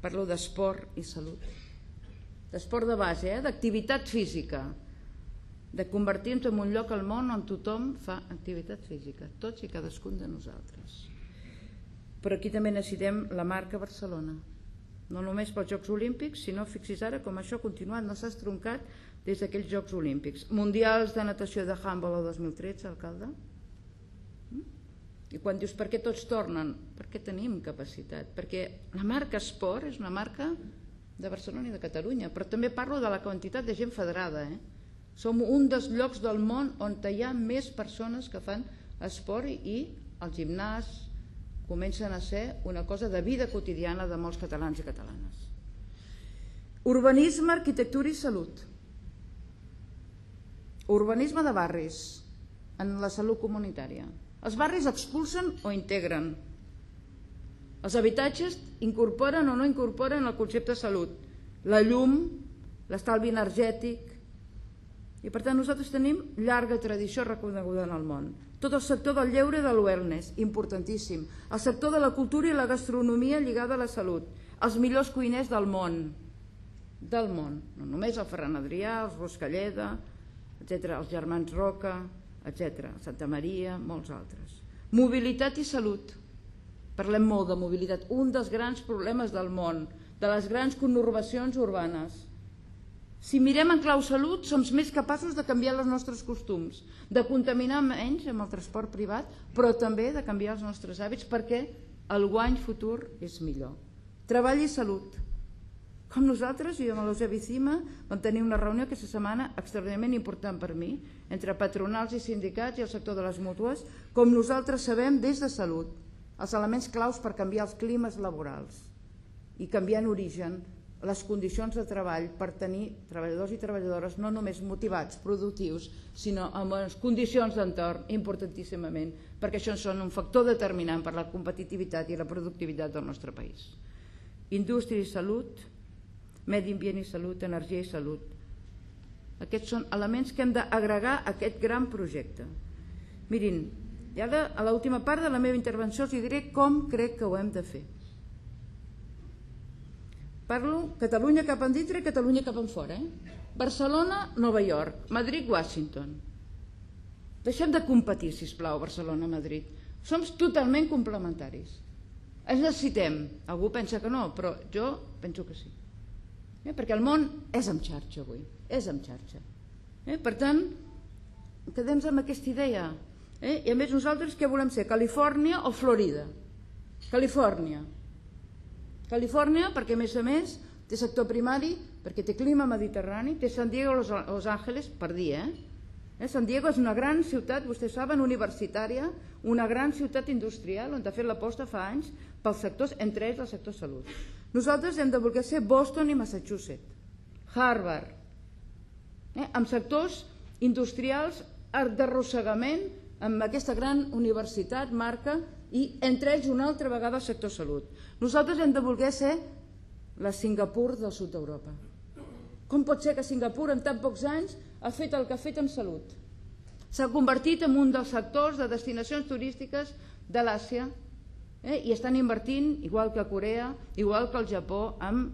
C: Parlo d'esport i salut? d'esport de base, eh? d'activitat física, de convertir-nos en un lloc al món on tothom fa activitat física, tots i cadascun de nosaltres. Però aquí també necessitem la marca Barcelona, no només pels Jocs Olímpics, sinó, fixis ara com això ha continuat, no s'ha estroncat des d'aquells Jocs Olímpics. Mundials de natació de handball el dos mil tretze, alcalde? I quan dius per què tots tornen? Perquè tenim capacitat, perquè la marca esport és una marca de Barcelona i de Catalunya, però també parlo de la quantitat de gent federada. Eh? Som un dels llocs del món on hi ha més persones que fan esport i el gimnàs comencen a ser una cosa de vida quotidiana de molts catalans i catalanes. Urbanisme, arquitectura i salut. Urbanisme de barris en la salut comunitària. Els barris expulsen o integren. Els habitatges incorporen o no incorporen el concepte de salut, la llum, l'estalvi energètic. I per tant nosaltres tenim llarga tradició reconeguda en el món. Tot el sector del lleure i del wellness, importantíssim. El sector de la cultura i la gastronomia lligada a la salut. Els millors cuiners del món. Del món. No només el Ferran Adrià, els Ruscalleda, etcètera, els germans Roca, etcètera, Santa Maria, molts altres. Mobilitat i salut. Parlem molt de mobilitat. Un dels grans problemes del món, de les grans conurbacions urbanes. Si mirem en clau salut, som més capaços de canviar els nostres costums, de contaminar menys amb el transport privat, però també de canviar els nostres hàbits perquè el guany futur és millor. Treball i salut. Com nosaltres, jo amb l'Eusebi Cima vam tenir una reunió aquesta setmana extraordinàriament important per mi, entre patronals i sindicats i el sector de les mútues, com nosaltres sabem des de salut, els elements claus per canviar els climes laborals i canviar en origen les condicions de treball per tenir treballadors i treballadores no només motivats, productius, sinó amb unes condicions d'entorn importantíssimament, perquè això són un factor determinant per la competitivitat i la productivitat del nostre país. Indústria i salut, medi ambient i salut, energia i salut. Aquests són elements que hem d'agregar a aquest gran projecte. Mirin, i ara a l'última part de la meva intervenció els diré com crec que ho hem de fer. Parlo Catalunya cap endintre i Catalunya cap enfora. Eh? Barcelona, Nova York, Madrid, Washington. Deixem de competir, sisplau, Barcelona-Madrid. Som totalment complementaris. Ens necessitem. Algú pensa que no, però jo penso que sí. Eh? Perquè el món és en xarxa avui, és en xarxa. Eh? Per tant, quedem amb aquesta idea. Eh? I a més nosaltres què volem ser? Califòrnia o Florida? Califòrnia. Califòrnia perquè a més a més té sector primari, perquè té clima mediterrani, té San Diego o Los Angeles per dir, eh? eh? San Diego és una gran ciutat, vostès saben, universitària, una gran ciutat industrial on ha fet l'aposta fa anys pels sectors, entre ells el sector salut. Nosaltres hem de voler ser Boston i Massachusetts, Harvard, eh? amb sectors industrials d'arrossegament amb aquesta gran universitat, marca, i entre ells una altra vegada el sector salut. Nosaltres hem de voler ser la Singapur del sud d'Europa. Com pot ser que Singapur en tan pocs anys ha fet el que ha fet en salut? S'ha convertit en un dels sectors de destinacions turístiques de l'Àsia eh? i estan invertint, igual que a Corea, igual que al Japó, en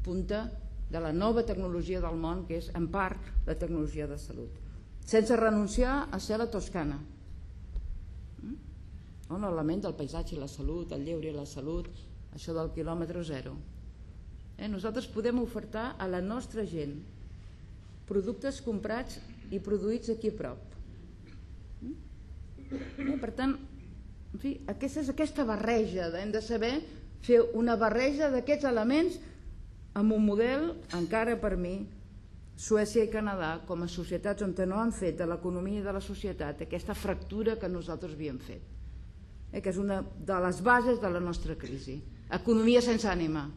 C: punta de la nova tecnologia del món, que és en part la tecnologia de salut. Sense renunciar a ser la Toscana. On l'element del paisatge i la salut, el lleure i la salut, això del quilòmetre zero. Eh? Nosaltres podem ofertar a la nostra gent productes comprats i produïts aquí a prop. Eh? Per tant, en fi, aquesta és aquesta barreja, hem de saber fer una barreja d'aquests elements amb un model, encara per mi, Suècia i Canadà, com a societats on no han fet de l'economia i de la societat aquesta fractura que nosaltres havíem fet. Eh, que és una de les bases de la nostra crisi. Economia sense ànima.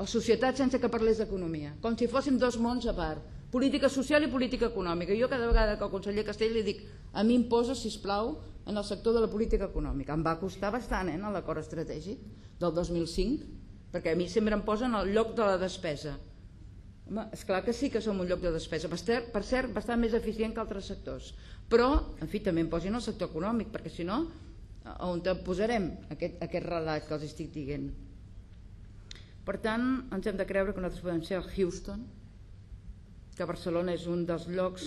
C: O societat sense que parlés d'economia. Com si fóssim dos mons a part. Política social i política econòmica. Jo cada vegada que al conseller Castell li dic a mi em posa, sisplau, en el sector de la política econòmica. Em va costar bastant eh, en l'acord estratègic del dos mil cinc, perquè a mi sempre em posen al lloc de la despesa. Home, esclar que sí que som un lloc de despesa, per cert, bastant més eficient que altres sectors. Però, en fi, també em posin el sector econòmic, perquè si no, on posarem aquest, aquest relat que els estic dient? Per tant, ens hem de creure que nosaltres podem ser el Houston, que Barcelona és un dels llocs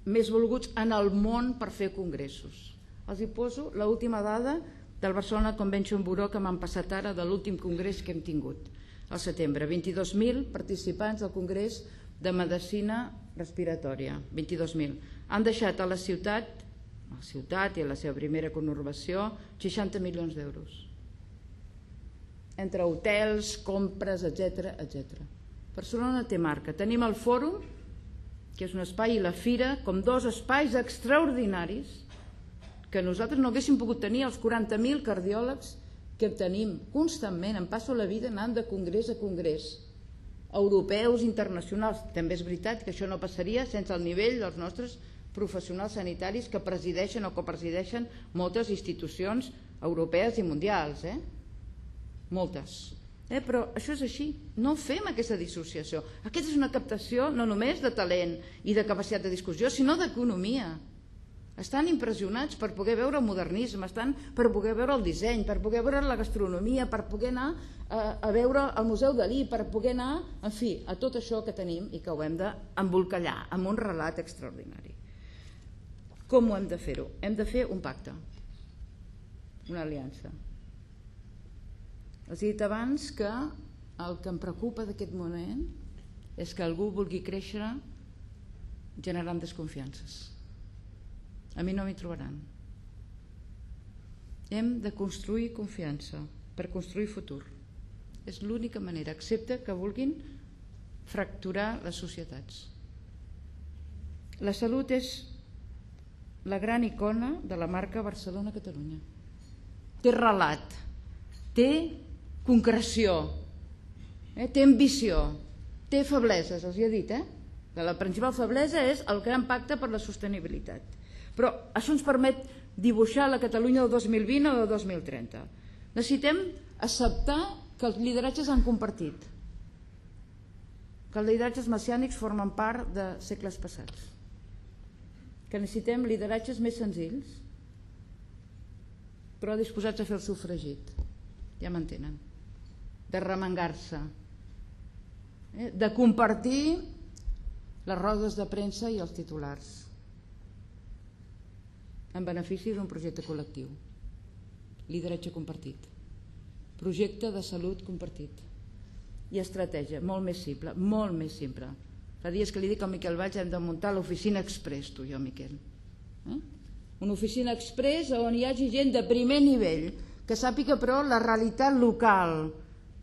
C: més volguts en el món per fer congressos. Els hi poso l'última dada del Barcelona Convention Bureau que m'han passat ara de l'últim congrés que hem tingut al setembre. vint-i-dos mil participants al congrés de medicina respiratòria, vint-i-dos mil. Han deixat a la ciutat, a la ciutat i a la seva primera conurbació, seixanta milions d'euros. Entre hotels, compres, etcètera, etcètera. Barcelona té marca. Tenim el Fòrum, que és un espai, i la Fira, com dos espais extraordinaris que nosaltres no haguéssim pogut tenir els quaranta mil cardiòlegs que tenim constantment. Em passo la vida anant de congrés a congrés, europeus, internacionals. També és veritat que això no passaria sense el nivell dels nostres professionals sanitaris que presideixen o copresideixen moltes institucions europees i mundials, eh? Moltes. Eh, però això és així, no fem aquesta dissociació. Aquesta és una captació no només de talent i de capacitat de discussió, sinó d'economia. Estan impressionats per poder veure el modernisme, estan per poder veure el disseny, per poder veure la gastronomia, per poder anar a, a veure el Museu Dalí, per poder anar, en fi, a tot això que tenim i que ho hem d'embolcallar amb un relat extraordinari. Com ho hem de fer-ho? Hem de fer un pacte, una aliança. Els he dit abans que el que em preocupa d'aquest moment és que algú vulgui créixer generant desconfiances. A mi no m'hi trobaran. Hem de construir confiança per construir futur. És l'única manera, excepte que vulguin fracturar les societats. La salut és la gran icona de la marca Barcelona-Catalunya. Té relat, té concreció, eh? té ambició, té febleses, els hi he dit, eh? La principal feblesa és el gran pacte per la sostenibilitat. Però això ens permet dibuixar la Catalunya del dos mil vint o del dos mil trenta. Necessitem acceptar que els lideratges han compartit, que els lideratges messiànics formen part de segles passats, que necessitem lideratges més senzills, però disposats a fer el sofregit, ja m'entenen, de remengar-se, eh? de compartir les rodes de premsa i els titulars, en benefici d'un projecte col·lectiu. Lideratge compartit, projecte de salut compartit i estratègia, molt més simple, molt més simple. Fa dies que li dic al Miquel Valls hem de muntar l'oficina express, tu i jo, Miquel. Eh? Una oficina express on hi hagi gent de primer nivell, que sàpiga però la realitat local,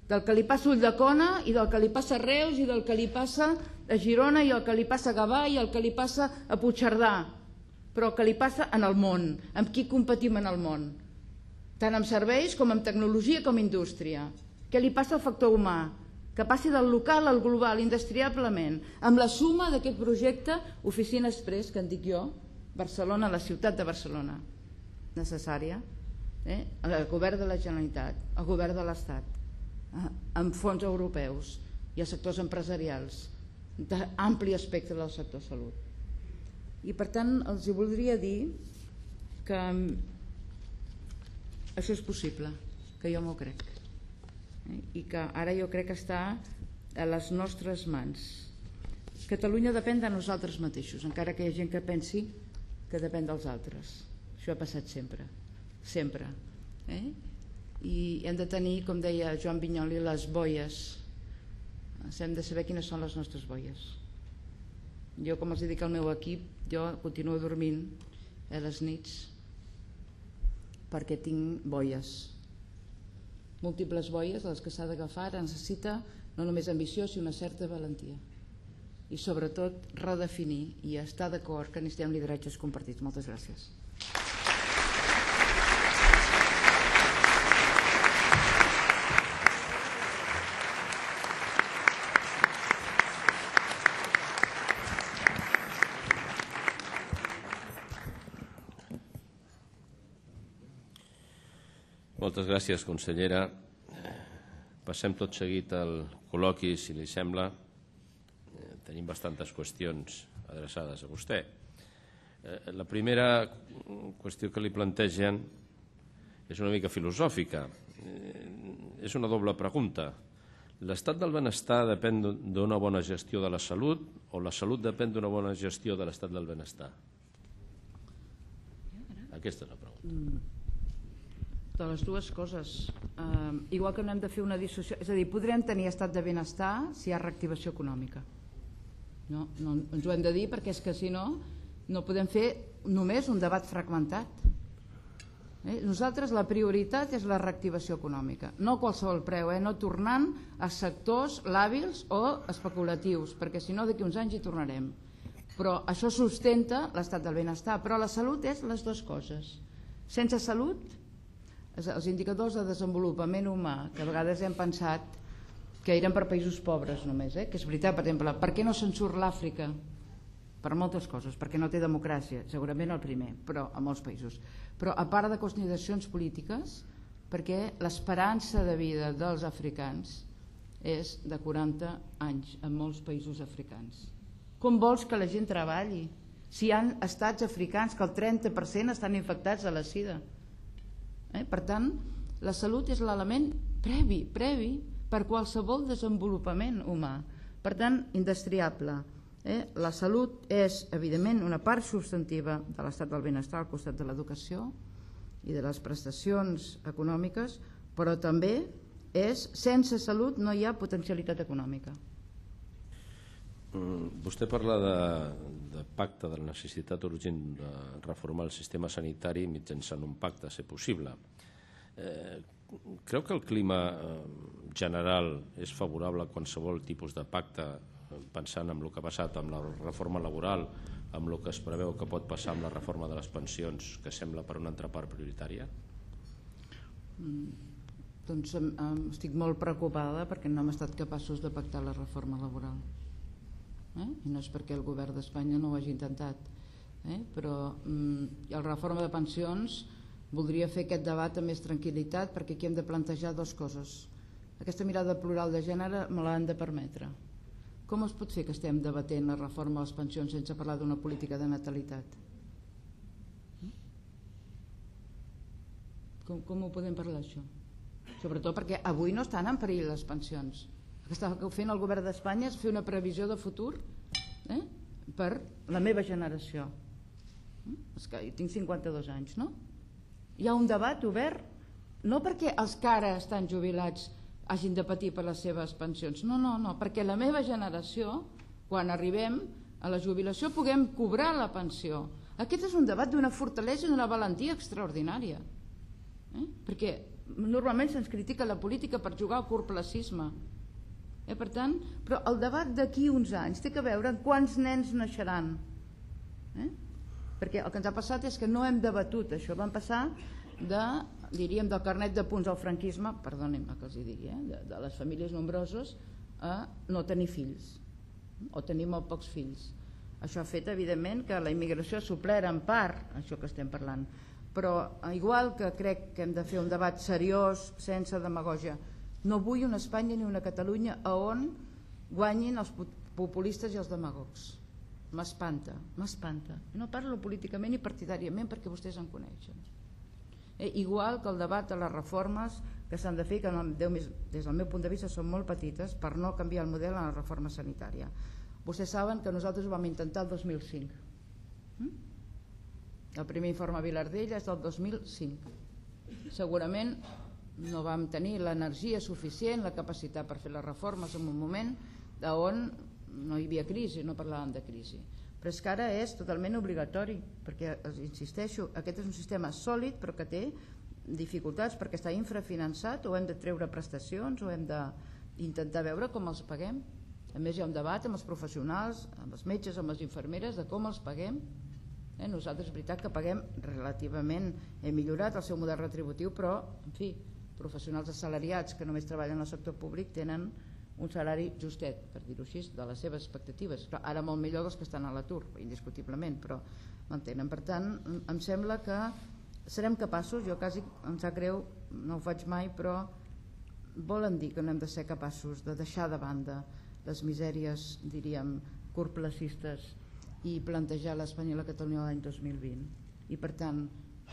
C: del que li passa a Ulldecona i del que li passa a Reus i del que li passa a Girona i el que li passa a Gavà i el que li passa a Puigcerdà, però el que li passa en el món, amb qui competim en el món, tant en serveis com en tecnologia com en indústria. Què li passa al factor humà? Que passi del local al global, indestriablement, amb la suma d'aquest projecte Oficina Express, que en dic jo, Barcelona, la ciutat de Barcelona, necessària, eh? el govern de la Generalitat, el govern de l'Estat, eh? amb fons europeus i els sectors empresarials, d'ampli espectre del sector salut. I per tant els voldria dir que això és possible, que jo m'ho crec, eh? i que ara jo crec que està a les nostres mans. Catalunya depèn de nosaltres mateixos, encara que hi ha gent que pensi que depèn dels altres. Això ha passat sempre, sempre. Eh? I hem de tenir, com deia Joan Vinyoli, les boies. Hem de saber quines són les nostres boies. Jo, com els dic al meu equip, jo continuo dormint a les nits perquè tinc boies, múltiples boies a les que s'ha d'agafar. Necessita no només ambició, sinó una certa valentia i sobretot redefinir i estar d'acord que necessitem lideratges compartits. Moltes gràcies.
A: Moltes gràcies, consellera. Passem tot seguit al col·loqui, si li sembla. Tenim bastantes qüestions adreçades a vostè. La primera qüestió que li plantegen és una mica filosòfica. És una doble pregunta. l'estat del benestar depèn d'una bona gestió de la salut o la salut depèn d'una bona gestió de l'estat del benestar? Aquesta és la pregunta.
C: De les dues coses. Uh, igual que no hem de fer una dissociació, és a dir, podrem tenir estat de benestar si hi ha reactivació econòmica. No, no ens ho hem de dir perquè és que si no, no podem fer només un debat fragmentat. Eh? Nosaltres la prioritat és la reactivació econòmica, no a qualsevol preu, eh? No tornant a sectors làbils o especulatius, perquè si no d'aquí uns anys hi tornarem. Però això sustenta l'estat del benestar, però la salut és les dues coses. Sense salut, els indicadors de desenvolupament humà, que a vegades hem pensat que eren per països pobres només, eh? Que és veritat, per exemple, per què no se'n surt l'Àfrica? Per moltes coses, perquè no té democràcia, segurament el primer, però a molts països. Però a part de consideracions polítiques, perquè l'esperança de vida dels africans és de quaranta anys en molts països africans. Com vols que la gent treballi si hi ha estats africans que el trenta per cent estan infectats de la sida? Eh? Per tant, la salut és l'element previ, previ per qualsevol desenvolupament humà. Per tant, indestriable. Eh? La salut és, evidentment, una part substantiva de l'estat del benestar al costat de l'educació i de les prestacions econòmiques, però també és, sense salut no hi ha potencialitat econòmica.
A: Vostè parla de, de pacte, de la necessitat urgent de reformar el sistema sanitari mitjançant un pacte, a ser possible. Eh, creu que el clima general és favorable a qualsevol tipus de pacte, pensant en el que ha passat amb la reforma laboral, amb el que es preveu que pot passar amb la reforma de les pensions, que sembla per una altra part prioritària?
C: Mm, doncs um, estic molt preocupada perquè no hem estat capaços de pactar la reforma laboral. Eh? I no és perquè el govern d'Espanya no ho hagi intentat, eh? però mm, la reforma de pensions voldria fer aquest debat amb més tranquil·litat, perquè aquí hem de plantejar dues coses. Aquesta mirada plural de gènere me l'han de permetre. Com es pot fer que estem debatent la reforma de les pensions sense parlar d'una política de natalitat? Com, com ho podem parlar, això? Sobretot perquè avui no estan en perill les pensions. El que està fent el govern d'Espanya és fer una previsió de futur eh, per la meva generació. És que jo tinc cinquanta-dos anys, no? Hi ha un debat obert, no perquè els que ara estan jubilats hagin de patir per les seves pensions, no, no, no, perquè la meva generació, quan arribem a la jubilació, puguem cobrar la pensió. Aquest és un debat d'una fortalesa i d'una valentia extraordinària, eh? Perquè normalment se'ns critica la política per jugar al curtplacisme. Eh, per tant, però el debat d'aquí uns anys té que veure en quants nens naixeran. Eh? Perquè el que ens ha passat és que no hem debatut això, vam passar de, diríem, del carnet de punts al franquisme, perdonin-me que els hi digui, eh? de, de les famílies nombroses a no tenir fills, o tenir molt pocs fills. Això ha fet, evidentment, que la immigració ha suplert en part això que estem parlant. Però, igual que crec que hem de fer un debat seriós, sense demagògia, no vull una Espanya ni una Catalunya on guanyin els populistes i els demagogs. M'espanta, m'espanta. No parlo políticament ni partidàriament perquè vostès en coneixen. Eh, igual que el debat de les reformes que s'han de fer, que des del meu punt de vista són molt petites per no canviar el model en la reforma sanitària. Vostès saben que nosaltres ho vam intentar el dos mil cinc. El primer informe Vilardell és del dos mil cinc. Segurament no vam tenir l'energia suficient, la capacitat per fer les reformes en un moment on no hi havia crisi, no parlàvem de crisi. Però és que ara és totalment obligatori, perquè, insisteixo, aquest és un sistema sòlid però que té dificultats perquè està infrafinançat, o hem de treure prestacions o hem d'intentar veure com els paguem. A més hi ha un debat amb els professionals, amb els metges, amb les infermeres, de com els paguem. Eh, nosaltres és veritat que paguem relativament, hem millorat el seu model retributiu, però, en fi, professionals assalariats que només treballen al sector públic tenen un salari justet, per dir-ho així, de les seves expectatives. Però ara molt millor dels que estan a l'atur, indiscutiblement, però m'entenen. Per tant, em sembla que serem capaços, jo quasi em sap greu, no ho faig mai, però volen dir que no hem de ser capaços de deixar de banda les misèries, diríem, curtplacistes i plantejar l'Espanya i la Catalunya l'any dos mil vint. I per tant,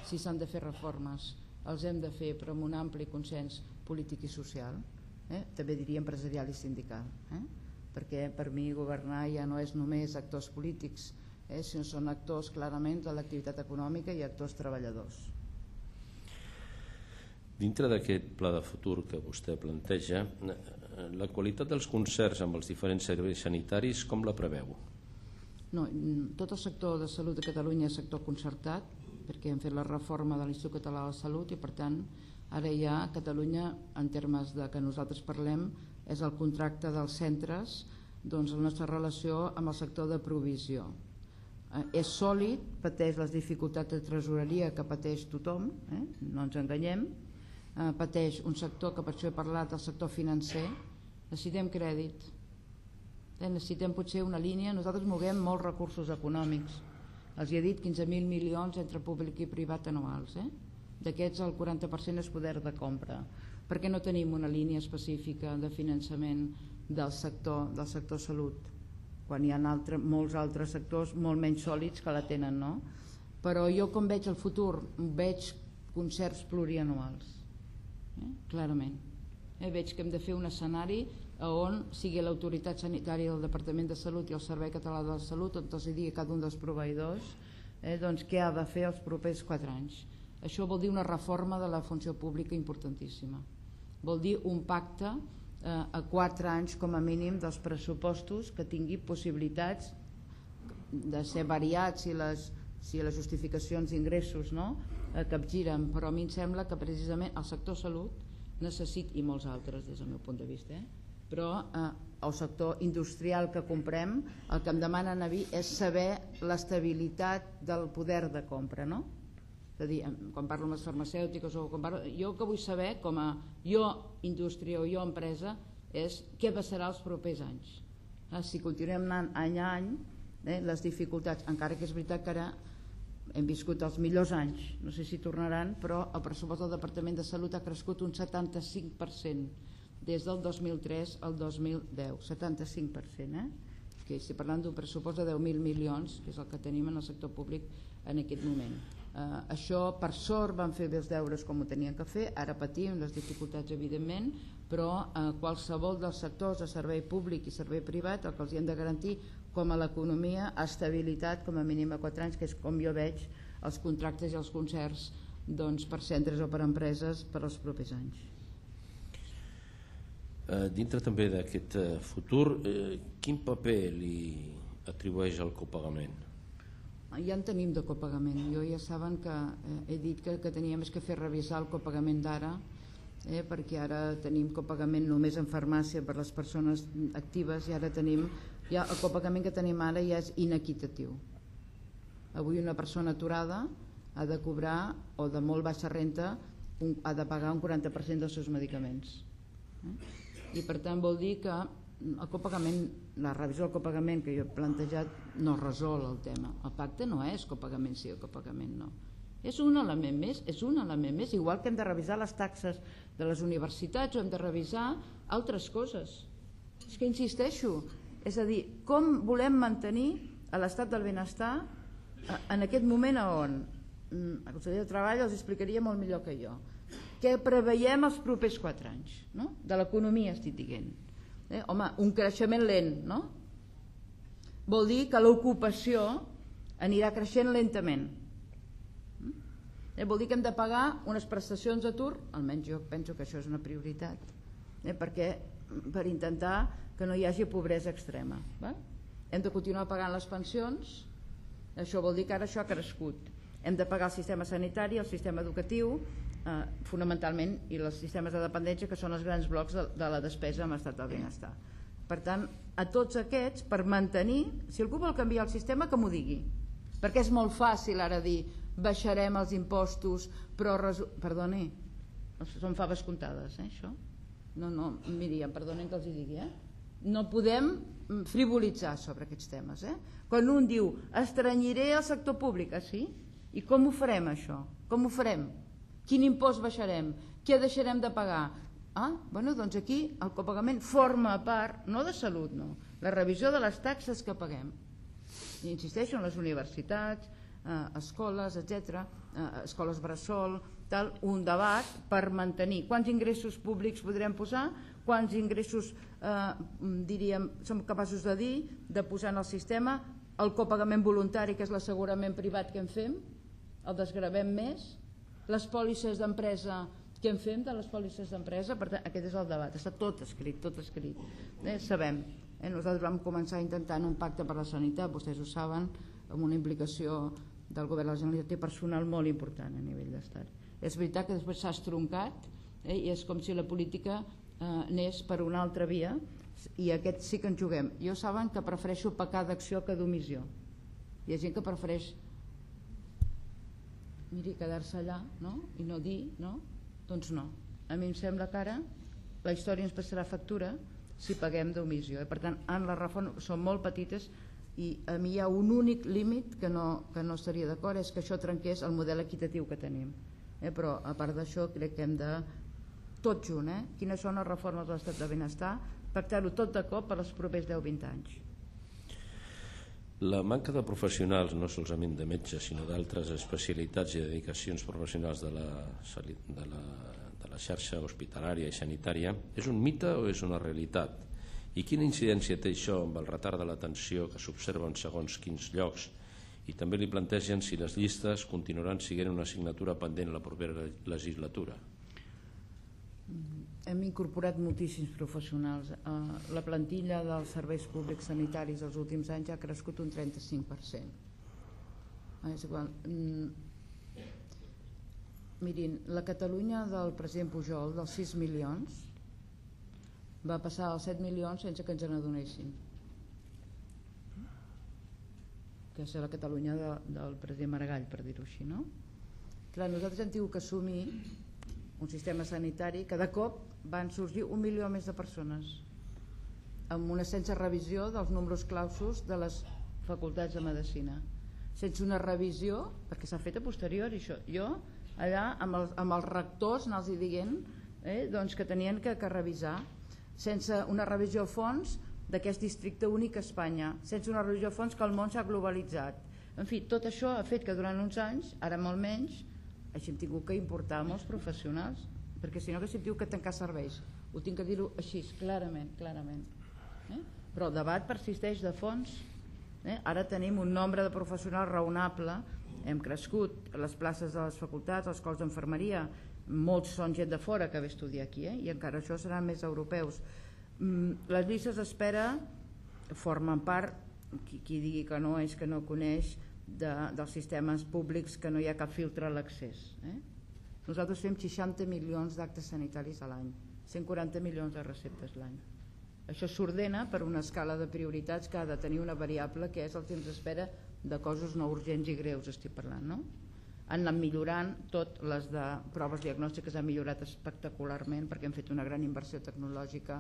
C: si s'han de fer reformes, els hem de fer però amb un ampli consens polític i social, eh? també diria empresarial i sindical, eh? perquè per mi governar ja no és només actors polítics, eh? sinó són actors clarament de l'activitat econòmica i actors treballadors.
A: Dintre d'aquest pla de futur que vostè planteja, la qualitat dels concerts amb els diferents serveis sanitaris com la preveu?
C: No, tot el sector de salut de Catalunya és sector concertat, perquè hem fet la reforma de l'Institut Català de la Salut i per tant ara ja a Catalunya, en termes de que nosaltres parlem, és el contracte dels centres, doncs la nostra relació amb el sector de provisió. Eh, és sòlid, pateix les dificultats de tresoreria que pateix tothom, eh? no ens enganyem, eh, pateix un sector que per això he parlat del sector financer, necessitem crèdit, eh? necessitem potser una línia, nosaltres moguem molts recursos econòmics, els he dit quinze mil milions entre públic i privat anuals, eh? d'aquests el quaranta per cent és poder de compra. Per què no tenim una línia específica de finançament del sector, del sector salut, quan hi ha altre, molts altres sectors molt menys sòlids que la tenen, no? Però jo com veig el futur, veig concerts plurianuals, eh? clarament. Eh? Veig que hem de fer un escenari on sigui l'autoritat sanitària del Departament de Salut i el Servei Català de la Salut, on els digui cada un dels proveïdors eh, doncs, què ha de fer els propers quatre anys. Això vol dir una reforma de la funció pública importantíssima. Vol dir un pacte eh, a quatre anys com a mínim dels pressupostos que tingui possibilitats de ser variats si les, si les justificacions d'ingressos no, eh, capgiren, però a mi em sembla que precisament el sector salut necessita, i molts altres des del meu punt de vista, eh, però eh, el sector industrial que comprem el que em demanen a mi és saber l'estabilitat del poder de compra, no? És a dir, quan parlo amb les farmacèutiques o quan parlo, jo el que vull saber com a jo indústria o jo empresa és què passarà els propers anys. Eh, si continuem anant any a any, eh, les dificultats, encara que és veritat que ara hem viscut els millors anys, no sé si tornaran, però el pressupost del Departament de Salut ha crescut un setanta-cinc per cent des del dos mil tres al dos mil deu, setanta-cinc per cent, eh? que estic parlant d'un pressupost de deu mil milions, que és el que tenim en el sector públic en aquest moment. Eh, això, per sort, van fer bé els deures com ho tenien que fer, ara patim les dificultats, evidentment, però eh, qualsevol dels sectors de servei públic i servei privat, el que els hi hem de garantir, com a l'economia, estabilitat com a mínim a quatre anys, que és com jo veig els contractes i els concerts doncs, per centres o per empreses per als propers anys.
A: Eh, dintre també d'aquest eh, futur, eh, quin paper li atribueix al copagament?
C: Ja en tenim de copagament. Jo ja saben que eh, he dit que, que teníem que fer revisar el copagament d'ara, eh, perquè ara tenim copagament només en farmàcia per les persones actives i ara tenim, ja el copagament que tenim ara ja és inequitatiu. Avui una persona aturada ha de cobrar, o de molt baixa renta, un, ha de pagar un quaranta per cent dels seus medicaments. Eh? I per tant vol dir que el copagament, la revisió del copagament que jo he plantejat no resol el tema. El pacte no és copagament sí o copagament no. És un element més, és un element més, igual que hem de revisar les taxes de les universitats o hem de revisar altres coses. És que insisteixo, és a dir, com volem mantenir l'estat del benestar en aquest moment on el conseller de Treball els explicaria molt millor que jo. Què preveiem els propers quatre anys, no? De l'economia estic dient. Eh? Home, un creixement lent, no? Vol dir que l'ocupació anirà creixent lentament. Eh? Vol dir que hem de pagar unes prestacions d'atur, almenys jo penso que això és una prioritat, eh? perquè per intentar que no hi hagi pobresa extrema. Va? Hem de continuar pagant les pensions, això vol dir que ara això ha crescut. Hem de pagar el sistema sanitari, el sistema educatiu, eh, fonamentalment, i els sistemes de dependència, que són els grans blocs de, de la despesa amb l'estat del benestar. Per tant, a tots aquests, per mantenir, si algú vol canviar el sistema, que m'ho digui. Perquè és molt fàcil ara dir, baixarem els impostos, però... Resu... Perdoni, són faves comptades, eh, això? No, no, miri, em perdonen que els hi digui, eh? No podem frivolitzar sobre aquests temes, eh? Quan un diu, estrenyiré el sector públic, ah, sí? I com ho farem, això? Com ho farem? Quin impost baixarem? Què deixarem de pagar? Ah, bueno, doncs aquí el copagament forma part, no de salut, no, la revisió de les taxes que paguem. I insisteixo en les universitats, eh, escoles, etcètera, eh, escoles bressol, tal, un debat per mantenir quants ingressos públics podrem posar, quants ingressos eh, diríem, som capaços de dir, de posar en el sistema, el copagament voluntari, que és l'assegurament privat que en fem, el desgravem més, les pòlisses d'empresa que en fem de les pòlisses d'empresa. Per tant, aquest és el debat, està tot escrit, tot escrit. Eh, sabem, eh, nosaltres vam començar intentant un pacte per la sanitat, vostès ho saben, amb una implicació del govern de la Generalitat i personal molt important a nivell d'estat. És veritat que després s'ha estroncat, eh, i és com si la política eh, anés per una altra via, i aquest sí que en juguem. Jo saben que prefereixo pecar d'acció que d'omissió. Hi ha gent que prefereix miri, quedar-se allà, no? I no dir, no? Doncs no. A mi em sembla que ara la història ens passarà factura si paguem d'omissió. Eh? Per tant, en la reforma són molt petites i a mi hi ha un únic límit que no, que no estaria d'acord, és que això trenqués el model equitatiu que tenim. Eh? Però a part d'això crec que hem de, tot junt, eh? Quines són les reformes de l'estat de benestar, pactar-ho tot de cop per als propers deu vint anys.
A: La manca de professionals, no solament de metges, sinó d'altres especialitats i dedicacions professionals de la, de, la, de la xarxa hospitalària i sanitària, és un mite o és una realitat? I quina incidència té això amb el retard de l'atenció que s'observa en segons quins llocs? I també li plantegen si les llistes continuaran sent una assignatura pendent a la propera legislatura.
C: Hem incorporat moltíssims professionals. La plantilla dels serveis públics sanitaris els últims anys ha crescut un trenta-cinc per cent. És igual. Mirin, la Catalunya del president Pujol, dels sis milions, va passar als set milions sense que ens n'adonéssim. Que és la Catalunya de, del president Maragall, per dir-ho així, no? Clar, nosaltres hem tingut que assumir un sistema sanitari que de cop van sorgir un milió més de persones amb una sense revisió dels números clausos de les facultats de medicina, sense una revisió, perquè s'ha fet a posteriori això. Jo allà amb els, amb els rectors anals hi dient eh, doncs que tenien que, que revisar, sense una revisió a fons d'aquest districte únic a Espanya, sense una revisió a fons que el món s'ha globalitzat. En fi, tot això ha fet que durant uns anys, ara molt menys, així hem tingut que importar molts professionals, perquè si no que si diu que tancar serveis, ho tinc que dir-ho així, clarament, clarament. Eh? Però el debat persisteix de fons. Eh? Ara tenim un nombre de professionals raonable, hem crescut les places de les facultats, els cols d'enfermeria, molts són gent de fora que ve a estudiar aquí, eh? I encara això seran més europeus. Les llistes d'espera formen part, qui, qui digui que no és que no coneix, De, dels sistemes públics que no hi ha cap filtre a l'accés. Eh? Nosaltres fem seixanta milions d'actes sanitaris a l'any, cent quaranta milions de receptes l'any. Això s'ordena per una escala de prioritats que ha de tenir una variable que és el temps d'espera de coses no urgents i greus, estic parlant, no? Han anat millorant, tot les de proves diagnòstiques han millorat espectacularment perquè hem fet una gran inversió tecnològica,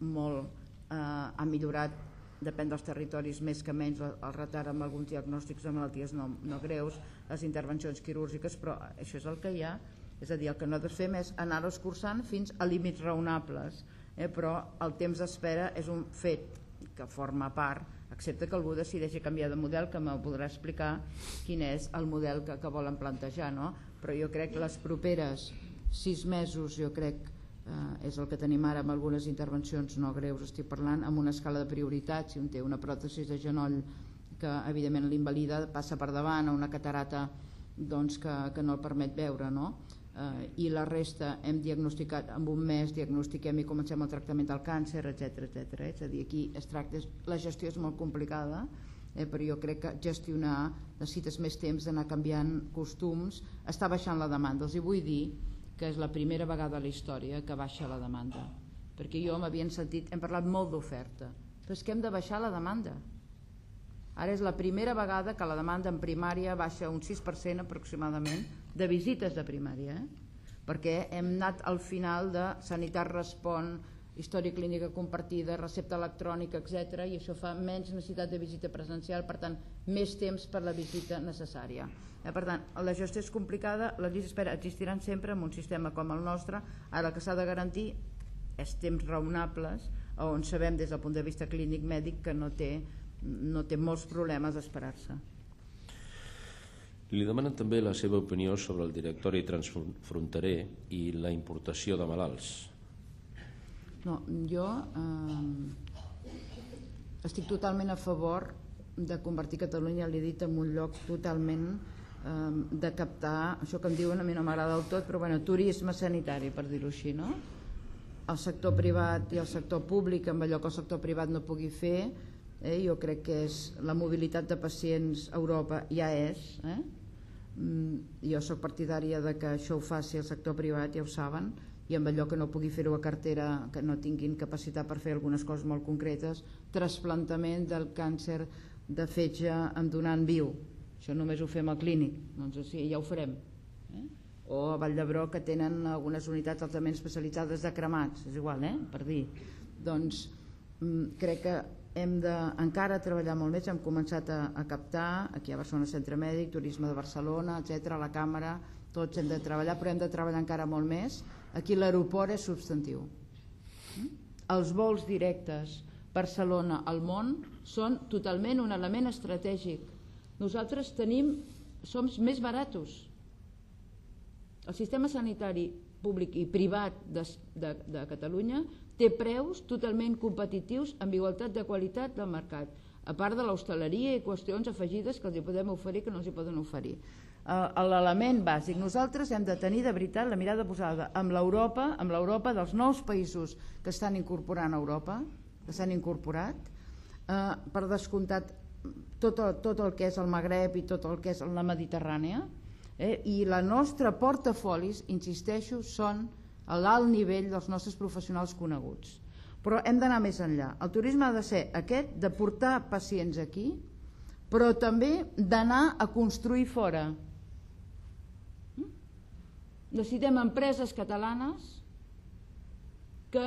C: molt, eh, ha millorat, depèn dels territoris més que menys, el retard amb alguns diagnòstics de malalties no, no greus, les intervencions quirúrgiques, però això és el que hi ha. És a dir, el que nosaltres fem és anar-ho escurçant fins a límits raonables, eh? Però el temps d'espera és un fet que forma part, excepte que algú decideixi canviar de model, que m'ho podrà explicar quin és el model que, que volen plantejar, no? Però jo crec que les properes sis mesos, jo crec Eh, és el que tenim ara amb algunes intervencions no greus, estic parlant amb una escala de prioritats. Si un té una pròtesi de genoll que evidentment l'invalida, passa per davant a una catarata doncs, que, que no el permet veure, no? Eh, i la resta hem diagnosticat en un mes, diagnostiquem i comencem el tractament del càncer, etc etcètera. És a dir, aquí es tracta, la gestió és molt complicada, eh, però jo crec que gestionar necessites més temps d'anar canviant costums, està baixant la demanda. Els hi vull dir que és la primera vegada a la història que baixa la demanda, perquè jo m'havien sentit, hem parlat molt d'oferta, però és que hem de baixar la demanda. Ara és la primera vegada que la demanda en primària baixa un sis per cent aproximadament de visites de primària, eh? Perquè hem anat al final de Sanitat Respon, història clínica compartida, recepta electrònica, etcètera, i això fa menys necessitat de visita presencial, per tant, més temps per la visita necessària. Eh, per tant, la gestió és complicada, les llistes d'espera existiran sempre en un sistema com el nostre. Ara el que s'ha de garantir és temps raonables, on sabem des del punt de vista clínic mèdic que no té, no té molts problemes d'esperar-se.
A: Li demanen també la seva opinió sobre el directori transfronterer i la importació de malalts.
C: No, jo eh, estic totalment a favor de convertir Catalunya, l'he dit, en un lloc totalment eh, de captar, això que em diuen a mi no m'agrada del tot, però bueno, turisme sanitari, per dir-ho així, no? El sector privat i el sector públic, amb allò que el sector privat no pugui fer, eh, jo crec que és la mobilitat de pacients a Europa ja és, eh? Mm, jo sóc partidària de que això ho faci el sector privat, ja ho saben, i amb allò que no pugui fer-ho a cartera, que no tinguin capacitat per fer algunes coses molt concretes, trasplantament del càncer de fetge en donant viu, això només ho fem al clínic, doncs sí, ja ho farem, eh? O a Vall d'Hebron, que tenen algunes unitats altament especialitzades de cremats, és igual, eh? Per dir, doncs crec que hem de encara treballar molt més. Hem començat a, a captar aquí a Barcelona Centre Mèdic, Turisme de Barcelona, etcètera, la Càmera, tots hem de treballar, però hem de treballar encara molt més. Aquí l'aeroport és substantiu. Els vols directes Barcelona al món són totalment un element estratègic. Nosaltres tenim, som més baratos. El sistema sanitari públic i privat de, de, de Catalunya té preus totalment competitius amb igualtat de qualitat del mercat, a part de l'hostaleria i qüestions afegides que els hi podem oferir que no els hi poden oferir. L'element bàsic, nosaltres hem de tenir de veritat la mirada posada amb l'Europa, amb l'Europa dels nous països que estan incorporant a Europa, que s'han incorporat, eh, per descomptat tot el, tot el que és el Magreb i tot el que és la Mediterrània, eh, i la nostra portafolis, insisteixo, són a l'alt nivell dels nostres professionals coneguts. Però hem d'anar més enllà. El turisme ha de ser aquest, de portar pacients aquí, però també d'anar a construir fora. Necessitem empreses catalanes que,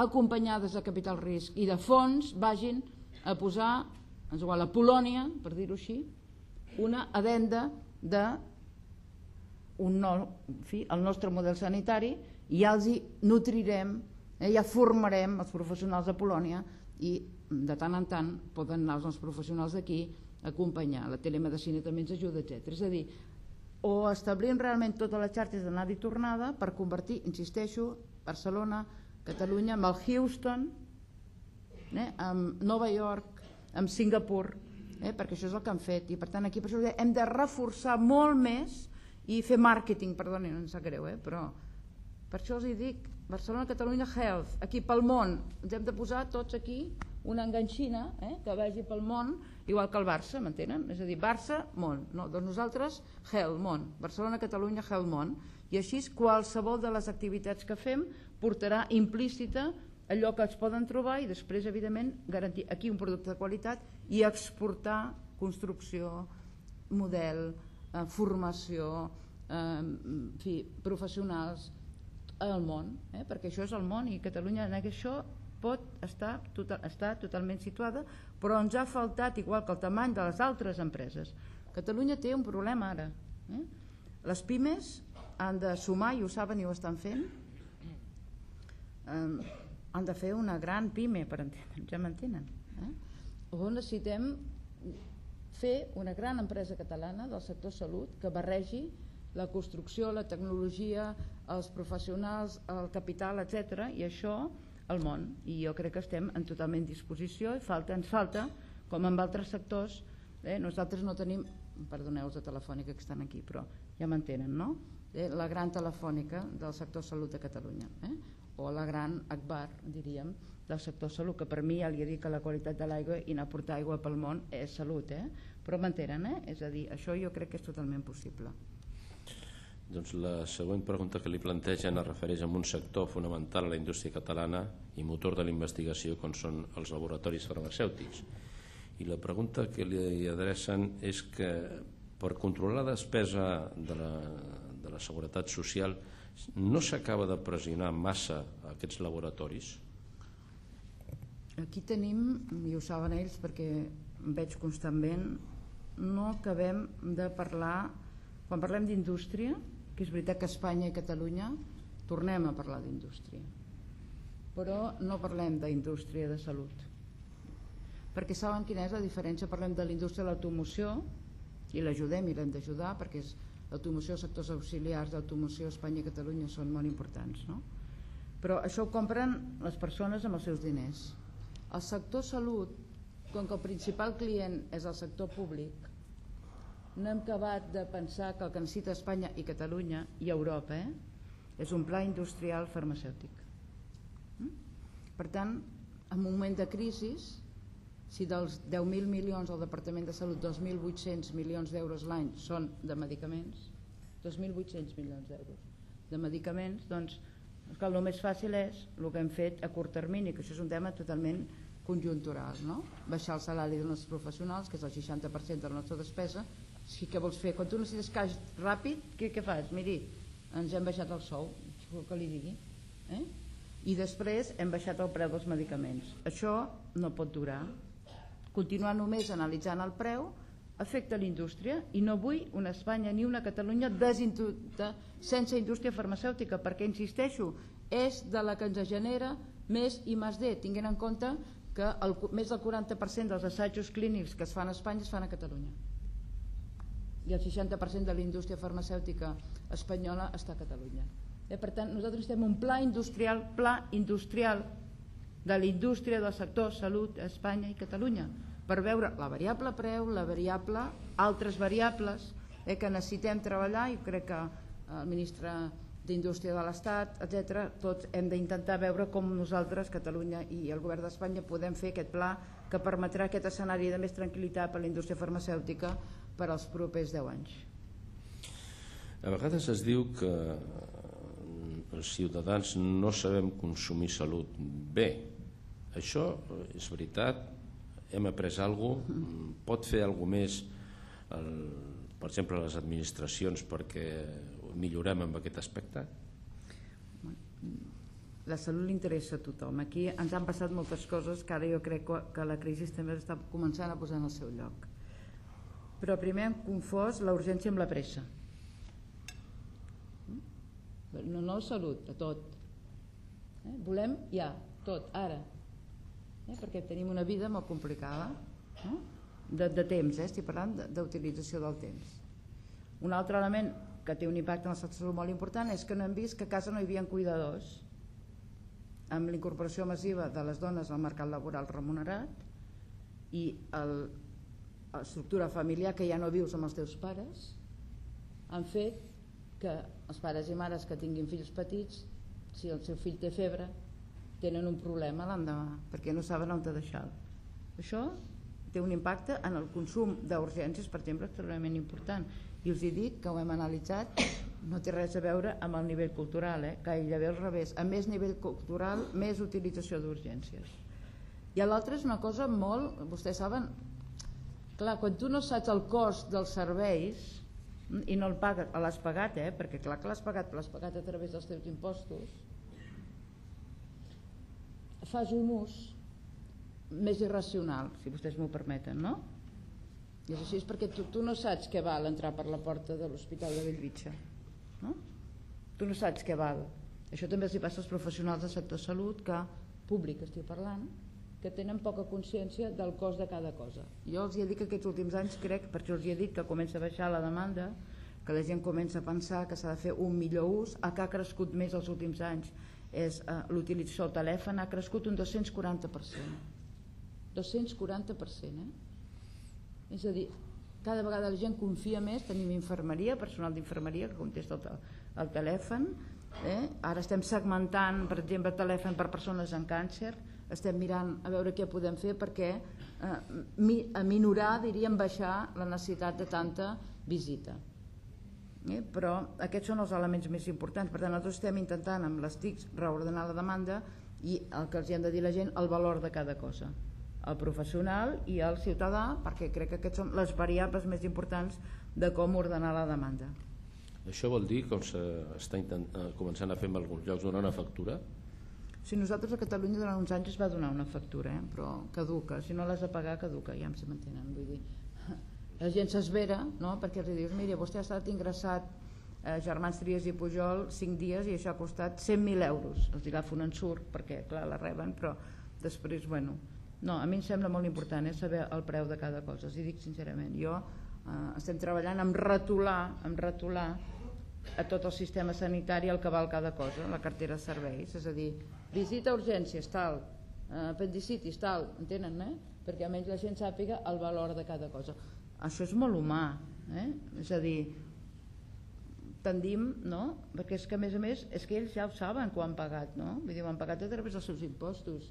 C: acompanyades de capital risc i de fons, vagin a posar, és igual, a Polònia, per dir-ho així, una addenda de un nou, en fi, el nostre model sanitari, i ja els hi nutrirem, eh, ja formarem els professionals de Polònia i de tant en tant poden anar els professionals d'aquí a acompanyar. La telemedicina també ens ajuda, etcètera. És a dir, o establim realment totes les xarxes d'anada i tornada per convertir, insisteixo, Barcelona, Catalunya, amb el Houston, eh, amb Nova York, amb Singapur, eh, perquè això és el que han fet. I per tant aquí per això hem de reforçar molt més i fer màrqueting, perdoni, no em sap greu, eh, però per això els hi dic, Barcelona, Catalunya, Health, aquí pel món, ens hem de posar tots aquí una enganxina, eh, que vagi pel món, igual que el Barça, m'entenen? És a dir, Barça, món, no, doncs nosaltres, Health, món, Barcelona, Catalunya, Health, món, i així qualsevol de les activitats que fem portarà implícita allò que es poden trobar i després, evidentment, garantir aquí un producte de qualitat i exportar construcció, model, eh, formació, eh, en fi, professionals, al món, eh? Perquè això és el món i Catalunya en això pot estar, total, estar totalment situada, però ens ha faltat, igual que el tamany de les altres empreses. Catalunya té un problema ara. Eh? Les pimes han de sumar, i ho saben i ho estan fent, eh, han de fer una gran pime, per entendre, ja m'entenen. Eh? O necessitem fer una gran empresa catalana del sector salut que barregi la construcció, la tecnologia, els professionals, el capital, etcètera, i això al món. I jo crec que estem en totalment disposició i falta, ens falta, com en altres sectors, eh, nosaltres no tenim, perdoneu els de Telefònica que estan aquí, però ja m'entenen, no? Eh, la gran telefònica del sector salut de Catalunya, eh? O la gran Agbar, diríem, del sector salut, que per mi ja li he dit que la qualitat de l'aigua i anar a portar aigua pel món és salut, eh? Però m'entenen, eh? És a dir, això jo crec que és totalment possible.
A: Doncs la següent pregunta que li plantegen es refereix a un sector fonamental a la indústria catalana i motor de la investigació com són els laboratoris farmacèutics. I la pregunta que li adrecen és que per controlar la despesa de la, de la seguretat social no s'acaba de pressionar massa aquests laboratoris?
C: Aquí tenim, i ho saben ells perquè em veig constantment, no acabem de parlar, quan parlem d'indústria, que és veritat que Espanya i Catalunya tornem a parlar d'indústria, però no parlem d'indústria de salut, perquè saben quina és la diferència. Parlem de la indústria de l'automoció i l'ajudem i l'hem d'ajudar perquè l'automoció, els sectors auxiliars d'automoció a Espanya i Catalunya són molt importants, no? però això ho compren les persones amb els seus diners. El sector salut, com que el principal client és el sector públic, no hem acabat de pensar que el que necessita Espanya i Catalunya i Europa eh, és un pla industrial farmacèutic. Per tant, en un moment de crisi, si dels deu mil milions al Departament de Salut, dos mil vuit-cents milions d'euros l'any són de medicaments, dos mil vuit-cents milions d'euros de medicaments, doncs el més fàcil és el que hem fet a curt termini, que això és un tema totalment conjuntural, no? Baixar el salari dels nostres professionals, que és el seixanta per cent de la nostra despesa. Si què vols fer? Quan tu necessites caix ràpid, què, què fas? Miri, ens hem baixat el sou, que li digui. Eh? I després hem baixat el preu dels medicaments. Això no pot durar. Continuar només analitzant el preu afecta l'indústria i no vull una Espanya ni una Catalunya sense indústria farmacèutica, perquè, insisteixo, és de la que ens genera més I més D, tinguent en compte que el, més del quaranta per cent dels assajos clínics que es fan a Espanya es fan a Catalunya i el seixanta per cent de la indústria farmacèutica espanyola està a Catalunya. Eh, per tant, nosaltres estem un pla industrial, pla industrial de la indústria del sector salut a Espanya i Catalunya, per veure la variable preu, la variable, altres variables eh, que necessitem treballar, i crec que el ministre d'Indústria de l'Estat, etcètera, tots hem d'intentar veure com nosaltres, Catalunya i el govern d'Espanya, podem fer aquest pla que permetrà aquest escenari de més tranquil·litat per a la indústria farmacèutica per als propers deu anys.
A: A vegades es diu que els ciutadans no sabem consumir salut bé. Això és veritat? Hem après alguna cosa? Pot fer alguna més, el, per exemple, les administracions perquè millorem en aquest aspecte?
C: La salut li interessa a tothom. Aquí ens han passat moltes coses que ara jo crec que la crisi també està començant a posar en el seu lloc. Però primer hem confós la urgència amb la pressa. No, no salut, a tot. Eh? Volem ja, tot, ara. Eh? Perquè tenim una vida molt complicada. Eh? De, de temps, eh? Estic parlant d'utilització del temps. Un altre element que té un impacte en el sector molt important és que no hem vist que a casa no hi havia cuidadors. Amb la incorporació massiva de les dones al mercat laboral remunerat i l'estructura familiar que ja no vius amb els teus pares, han fet que els pares i mares que tinguin fills petits, si el seu fill té febre, tenen un problema l'endemà, perquè no saben on deixar-lo. Això té un impacte en el consum d'urgències, per exemple, extremadament important. I us he dit que ho hem analitzat, no té res a veure amb el nivell cultural, eh? Gairebé al revés. A més nivell cultural, més utilització d'urgències. I l'altre és una cosa molt, vostès saben, clar, quan tu no saps el cost dels serveis i no el pagues, l'has pagat, eh? Perquè clar que l'has pagat, l'has pagat a través dels teus impostos, fas un ús més irracional, si vostès m'ho permeten, no? I és així, és perquè tu, tu no saps què val entrar per la porta de l'Hospital de Bellvitge, no? Tu no saps què val. Això també els passa als professionals del sector salut, que públic estic parlant, que tenen poca consciència del cost de cada cosa. Jo els he dit que aquests últims anys crec, per això els he dit que comença a baixar la demanda, que la gent comença a pensar que s'ha de fer un millor ús. El que ha crescut més els últims anys és eh, l'utilització del telèfon, ha crescut un dos-cents quaranta per cent. dos-cents quaranta per cent, eh? És a dir, cada vegada la gent confia més, tenim infermeria, personal d'infermeria que contesta el, el telèfon, eh? Ara estem segmentant, per exemple, el telèfon per persones amb càncer, estem mirant a veure què podem fer perquè eh, mi, a minorar, diríem, baixar la necessitat de tanta visita. Eh? Però aquests són els elements més importants. Per tant, nosaltres estem intentant amb les T I Cs reordenar la demanda i el que els hem de dir a la gent, el valor de cada cosa, el professional i el ciutadà, perquè crec que aquests són les variables més importants de com ordenar la demanda.
A: Això vol dir, com s'està començant a fer en alguns llocs, donar una factura?
C: Si nosaltres a Catalunya durant uns anys es va donar una factura, eh? Però caduca, si no l'has de pagar caduca, ja em se m'entenen, vull dir, la gent s'esvera, no? Perquè els dius, mira, vostè ha estat ingressat a Germans Trias i Pujol cinc dies i això ha costat cent mil euros, els agafen en surt perquè clar la reben, però després, bueno, no, a mi em sembla molt important eh, saber el preu de cada cosa, els hi dic sincerament. Jo eh, estem treballant en retolar, en retolar a tot el sistema sanitari el que val cada cosa, la cartera de serveis, és a dir, visita a urgències, tal, apendicitis, tal, entenen, eh? Perquè almenys la gent sàpiga el valor de cada cosa. Això és molt humà, eh? És a dir, tendim, no? Perquè és que a més a més és que ells ja ho saben que ho han pagat, no? Vull dir, ho han pagat a través dels seus impostos,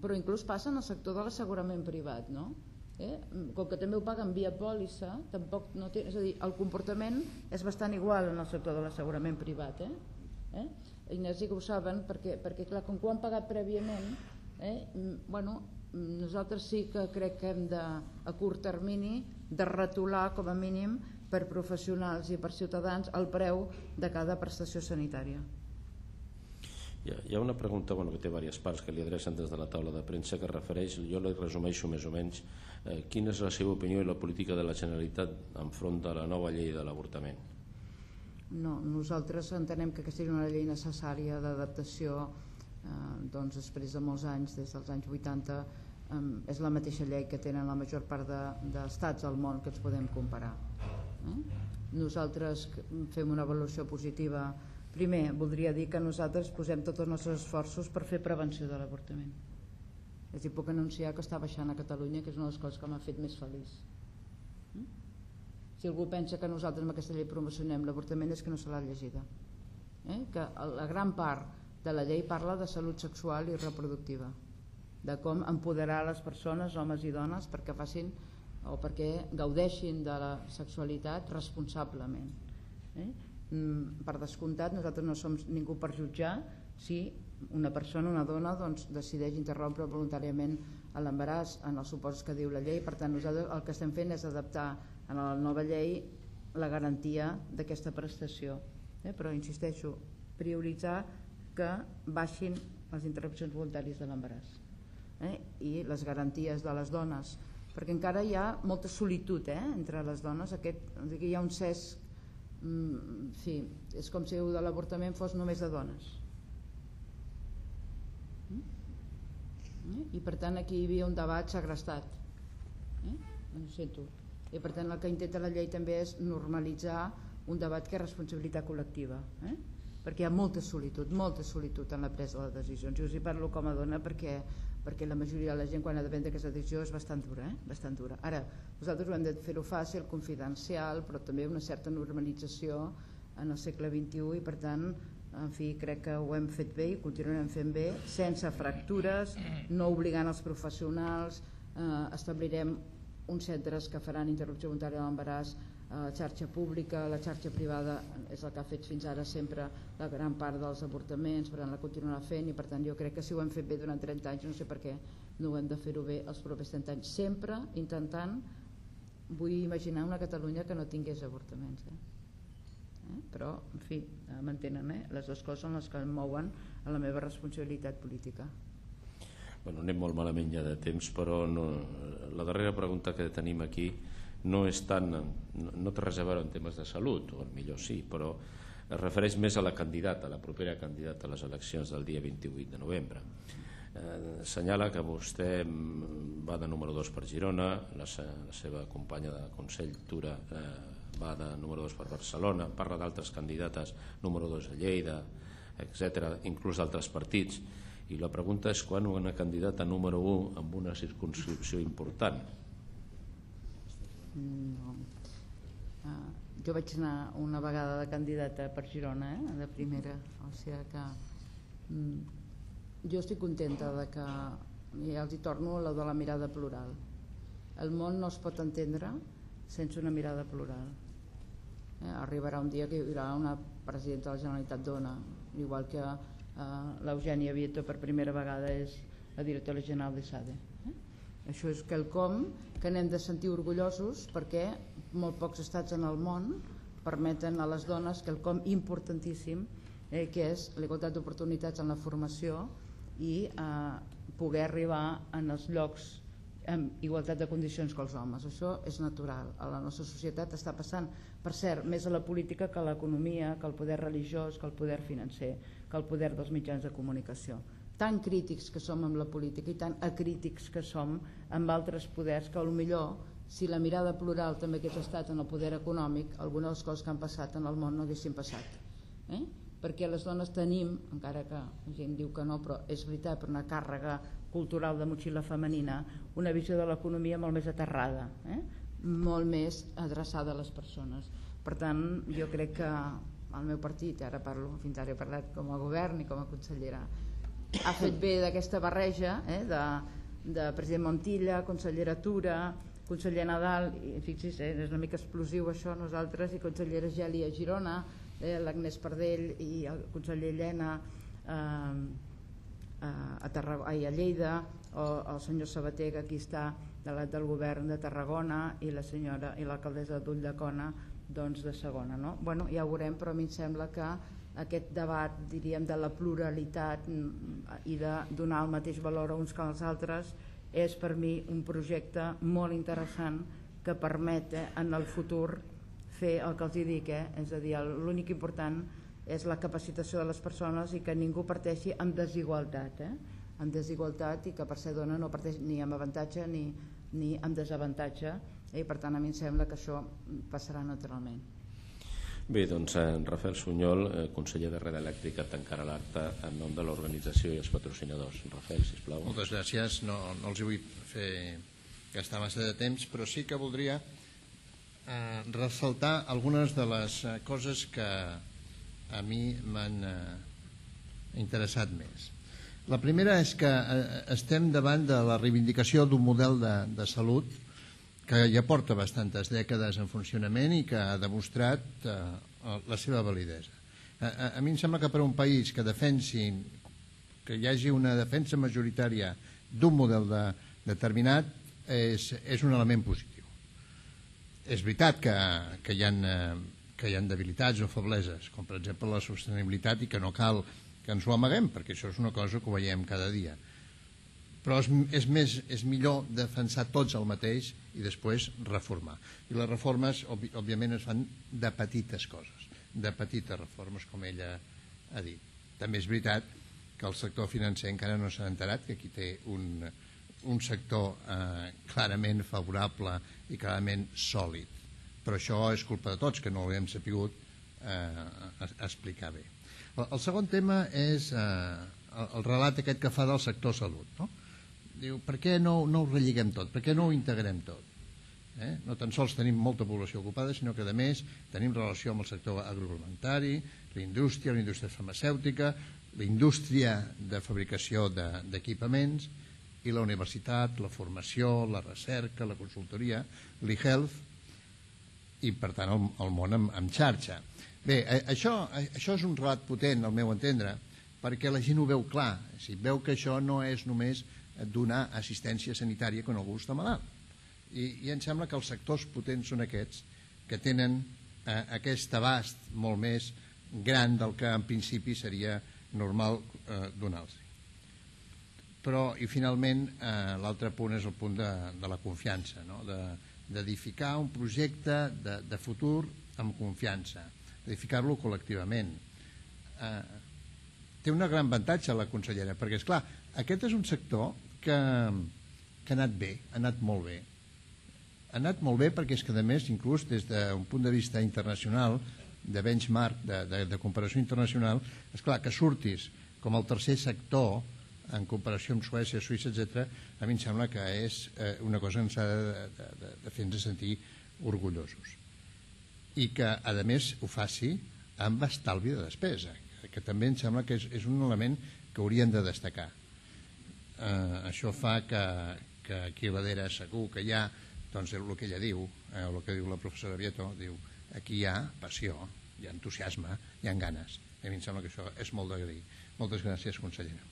C: però inclús passa en el sector de l'assegurament privat, no? Eh? Com que també ho paguen via pòlissa, tampoc no té, és a dir, el comportament és bastant igual en el sector de l'assegurament privat, eh? Eh? Ignasi que ho saben, perquè, perquè clar, com que ho han pagat prèviament, eh? bueno, nosaltres sí que crec que hem de, a curt termini, de retolar com a mínim per professionals i per ciutadans el preu de cada prestació sanitària.
A: Hi ha una pregunta bueno, que té diverses parts que li adrecen des de la taula de premsa que refereix, jo la resumeixo més o menys, eh, quina és la seva opinió i la política de la Generalitat enfront de la nova llei de l'avortament?
C: No, nosaltres entenem que aquesta és una llei necessària d'adaptació, eh, doncs després de molts anys, des dels anys vuitanta, eh, és la mateixa llei que tenen la major part d'estats de, del món que ens podem comparar. Eh? Nosaltres fem una avaluació positiva. Primer, voldria dir que nosaltres posem tots els nostres esforços per fer prevenció de l'avortament. És a dir, puc anunciar que està baixant a Catalunya, que és una de les coses que m'ha fet més feliç. Si algú pensa que nosaltres amb aquesta llei promocionem l'avortament és que no se l'ha llegida. Eh? Que la gran part de la llei parla de salut sexual i reproductiva, de com empoderar les persones, homes i dones, perquè facin o perquè gaudeixin de la sexualitat responsablement. Eh? Per descomptat, nosaltres no som ningú per jutjar si una persona, una dona, doncs, decideix interrompre voluntàriament l'embaràs en els supòsits que diu la llei. Per tant, nosaltres el que estem fent és adaptar a la nova llei la garantia d'aquesta prestació. Eh? Però, insisteixo, prioritzar que baixin les interrupcions voluntàries de l'embaràs, eh? I les garanties de les dones, perquè encara hi ha molta solitud, eh? Entre les dones. Aquest, hi ha un cesc. Mm, sí, és com si de l'avortament fos només de dones. Mm? I per tant aquí hi havia un debat segrestat. Eh? Ho sento. I per tant el que intenta la llei també és normalitzar un debat que és responsabilitat col·lectiva, eh? Perquè hi ha molta solitud, molta solitud en la presa de decisions. Jo us hi parlo com a dona perquè, perquè la majoria de la gent quan ha de prendre aquesta decisió és bastant dura, eh? Bastant dura. Ara, nosaltres ho hem de fer-ho fàcil, confidencial, però també una certa normalització en el segle vint-i-u i per tant, en fi, crec que ho hem fet bé i continuarem fent bé, sense fractures, no obligant els professionals, eh, establirem uns centres que faran interrupció voluntària de l'embaràs, la xarxa pública, la xarxa privada és el que ha fet fins ara sempre la gran part dels avortaments, per tant la continuarà fent i per tant jo crec que si ho hem fet bé durant trenta anys no sé per què no ho hem de fer-ho bé els propers trenta anys, sempre intentant, vull imaginar una Catalunya que no tingués avortaments, eh? Eh? Però en fi, m'entenen, eh? Les dues coses són les que em mouen a la meva responsabilitat política.
A: Bueno, anem molt malament ja de temps, però no, la darrera pregunta que tenim aquí no és tan, no, no té res a veure en temes de salut, o millor sí, però es refereix més a la candidata, a la propera candidata a les eleccions del dia vint-i-vuit de novembre. Eh, senyala que vostè va de número dos per Girona, la, la seva companya de Consell, Tura, eh, va de número dos per Barcelona, parla d'altres candidates, número dos a Lleida, etcètera, inclús d'altres partits, i la pregunta és quan una candidata número un amb una circumscripció important.
C: No. Uh, jo vaig anar una vegada de candidata per Girona, eh, de primera, o sigui que um, jo estic contenta de que, ja els hi torno a la de la mirada plural. El món no es pot entendre sense una mirada plural. Eh, arribarà un dia que hi haurà una presidenta de la Generalitat dona, igual que uh, l'Eugènia Vieto per primera vegada és la directora general de SADE. Eh? Això és quelcom que n'hem de sentir orgullosos perquè molt pocs estats en el món permeten a les dones quelcom importantíssim, eh, que és l'igualtat d'oportunitats en la formació i eh, poder arribar en els llocs amb igualtat de condicions que els homes. Això és natural. A la nostra societat està passant, per cert, més a la política que a l'economia, que al poder religiós, que al poder financer, que al poder dels mitjans de comunicació. Tan crítics que som amb la política i tan acrítics que som amb altres poders que potser si la mirada plural també hagués estat en el poder econòmic, algunes de les coses que han passat en el món no haguessin passat. Eh? Perquè les dones tenim, encara que la gent diu que no, però és veritat, per una càrrega cultural de motxilla femenina, una visió de l'economia molt més aterrada, eh? molt més adreçada a les persones. Per tant, jo crec que el meu partit, ara parlo, fins ara he parlat com a govern i com a consellera, ha fet bé d'aquesta barreja eh? de, de president Montilla, consellera Tura, conseller Nadal, i fixi's, eh? és una mica explosiu això, nosaltres, i consellera Geli a Girona, eh? l'Agnès Pardell i el conseller Llena eh, a, Tarragona, ai, a Lleida, o el senyor Sabater, que aquí està delegat del govern de Tarragona, i la senyora i l'alcaldessa d'Ulldecona, doncs de segona, no? Bueno, ja ho veurem, però a mi em sembla que aquest debat, diríem, de la pluralitat i de donar el mateix valor a uns que als altres és per mi un projecte molt interessant que permet eh, en el futur fer el que els dic, eh? és a dir, l'únic important és la capacitació de les persones i que ningú parteixi amb desigualtat, eh? amb desigualtat, i que per ser dona no parteix ni amb avantatge ni, ni amb desavantatge, eh? i per tant a mi em sembla que això passarà naturalment.
A: Bé, doncs en Rafael Sunyol, eh, conseller de Red Elèctrica, tancarà l'acte en nom de l'organització i els patrocinadors. Rafael, sisplau.
D: Moltes gràcies. No, no els vull fer gastar massa de temps, però sí que voldria eh, ressaltar algunes de les eh, coses que a mi m'han eh, interessat més. La primera és que eh, estem davant de la reivindicació d'un model de, de salut que ja porta bastantes dècades en funcionament i que ha demostrat eh, la seva validesa. A, a, a mi em sembla que per un país que defensi, que hi hagi una defensa majoritària d'un model de, determinat és, és un element positiu. És veritat que, que, hi ha, que hi ha debilitats o febleses, com per exemple la sostenibilitat, i que no cal que ens ho amaguem, perquè això és una cosa que ho veiem cada dia. Però és, és, més, és millor defensar tots el mateix i després reformar. I les reformes, òbviament, es fan de petites coses, de petites reformes, com ella ha dit. També és veritat que el sector financer encara no s'ha enterat, que aquí té un, un sector eh, clarament favorable i clarament sòlid. Però això és culpa de tots, que no ho hem sapigut eh, explicar bé. El, el segon tema és eh, el, el relat aquest que fa del sector salut, no? Diu, per què no, no ho relligem tot? Per què no ho integrem tot? Eh? No tan sols tenim molta població ocupada, sinó que a més tenim relació amb el sector agroalimentari, la indústria, la indústria farmacèutica, la indústria de fabricació d'equipaments, i la universitat, la formació, la recerca, la consultoria, l'e-health, i per tant el, el món en, en xarxa. Bé, això, això és un relat potent, al meu entendre, perquè la gent ho veu clar, o sigui, veu que això no és només donar assistència sanitària quan algú està malalt. I, i em sembla que els sectors potents són aquests que tenen eh, aquest abast molt més gran del que en principi seria normal eh, donar-los. Però, i finalment, eh, l'altre punt és el punt de, de la confiança, no? d'edificar un projecte de, de futur amb confiança, d'edificar-lo col·lectivament. Eh, té un gran avantatge la consellera, perquè, esclar, aquest és un sector que, que ha anat bé, ha anat molt bé. Ha anat molt bé perquè és que, a més, inclús des d'un punt de vista internacional, de benchmark, de, de, de comparació internacional, esclar, que surtis com el tercer sector en comparació amb Suècia, Suïssa, etcètera, a mi em sembla que és eh, una cosa que ens ha de, de, de, de fer-nos sentir orgullosos. I que, a més, ho faci amb estalvi de despesa, que també em sembla que és, és un element que haurien de destacar. Eh, això fa que, que aquí a darrere segur que hi ha, doncs, el que ella diu, eh, el que diu la professora Vieto, diu, aquí hi ha passió, hi ha entusiasme, hi ha ganes. A mi em sembla que això és molt d'agrair. Moltes gràcies, consellera.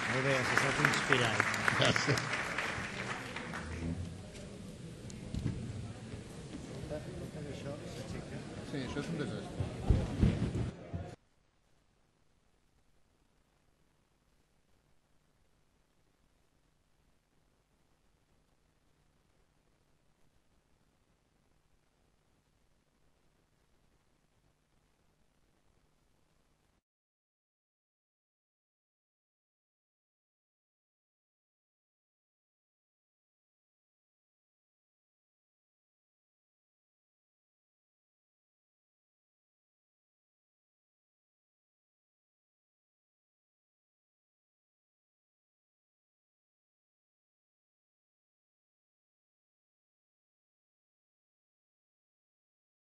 E: Molt bé, s'ha estat inspirat.
D: Gràcies. Sí, això és un desastre.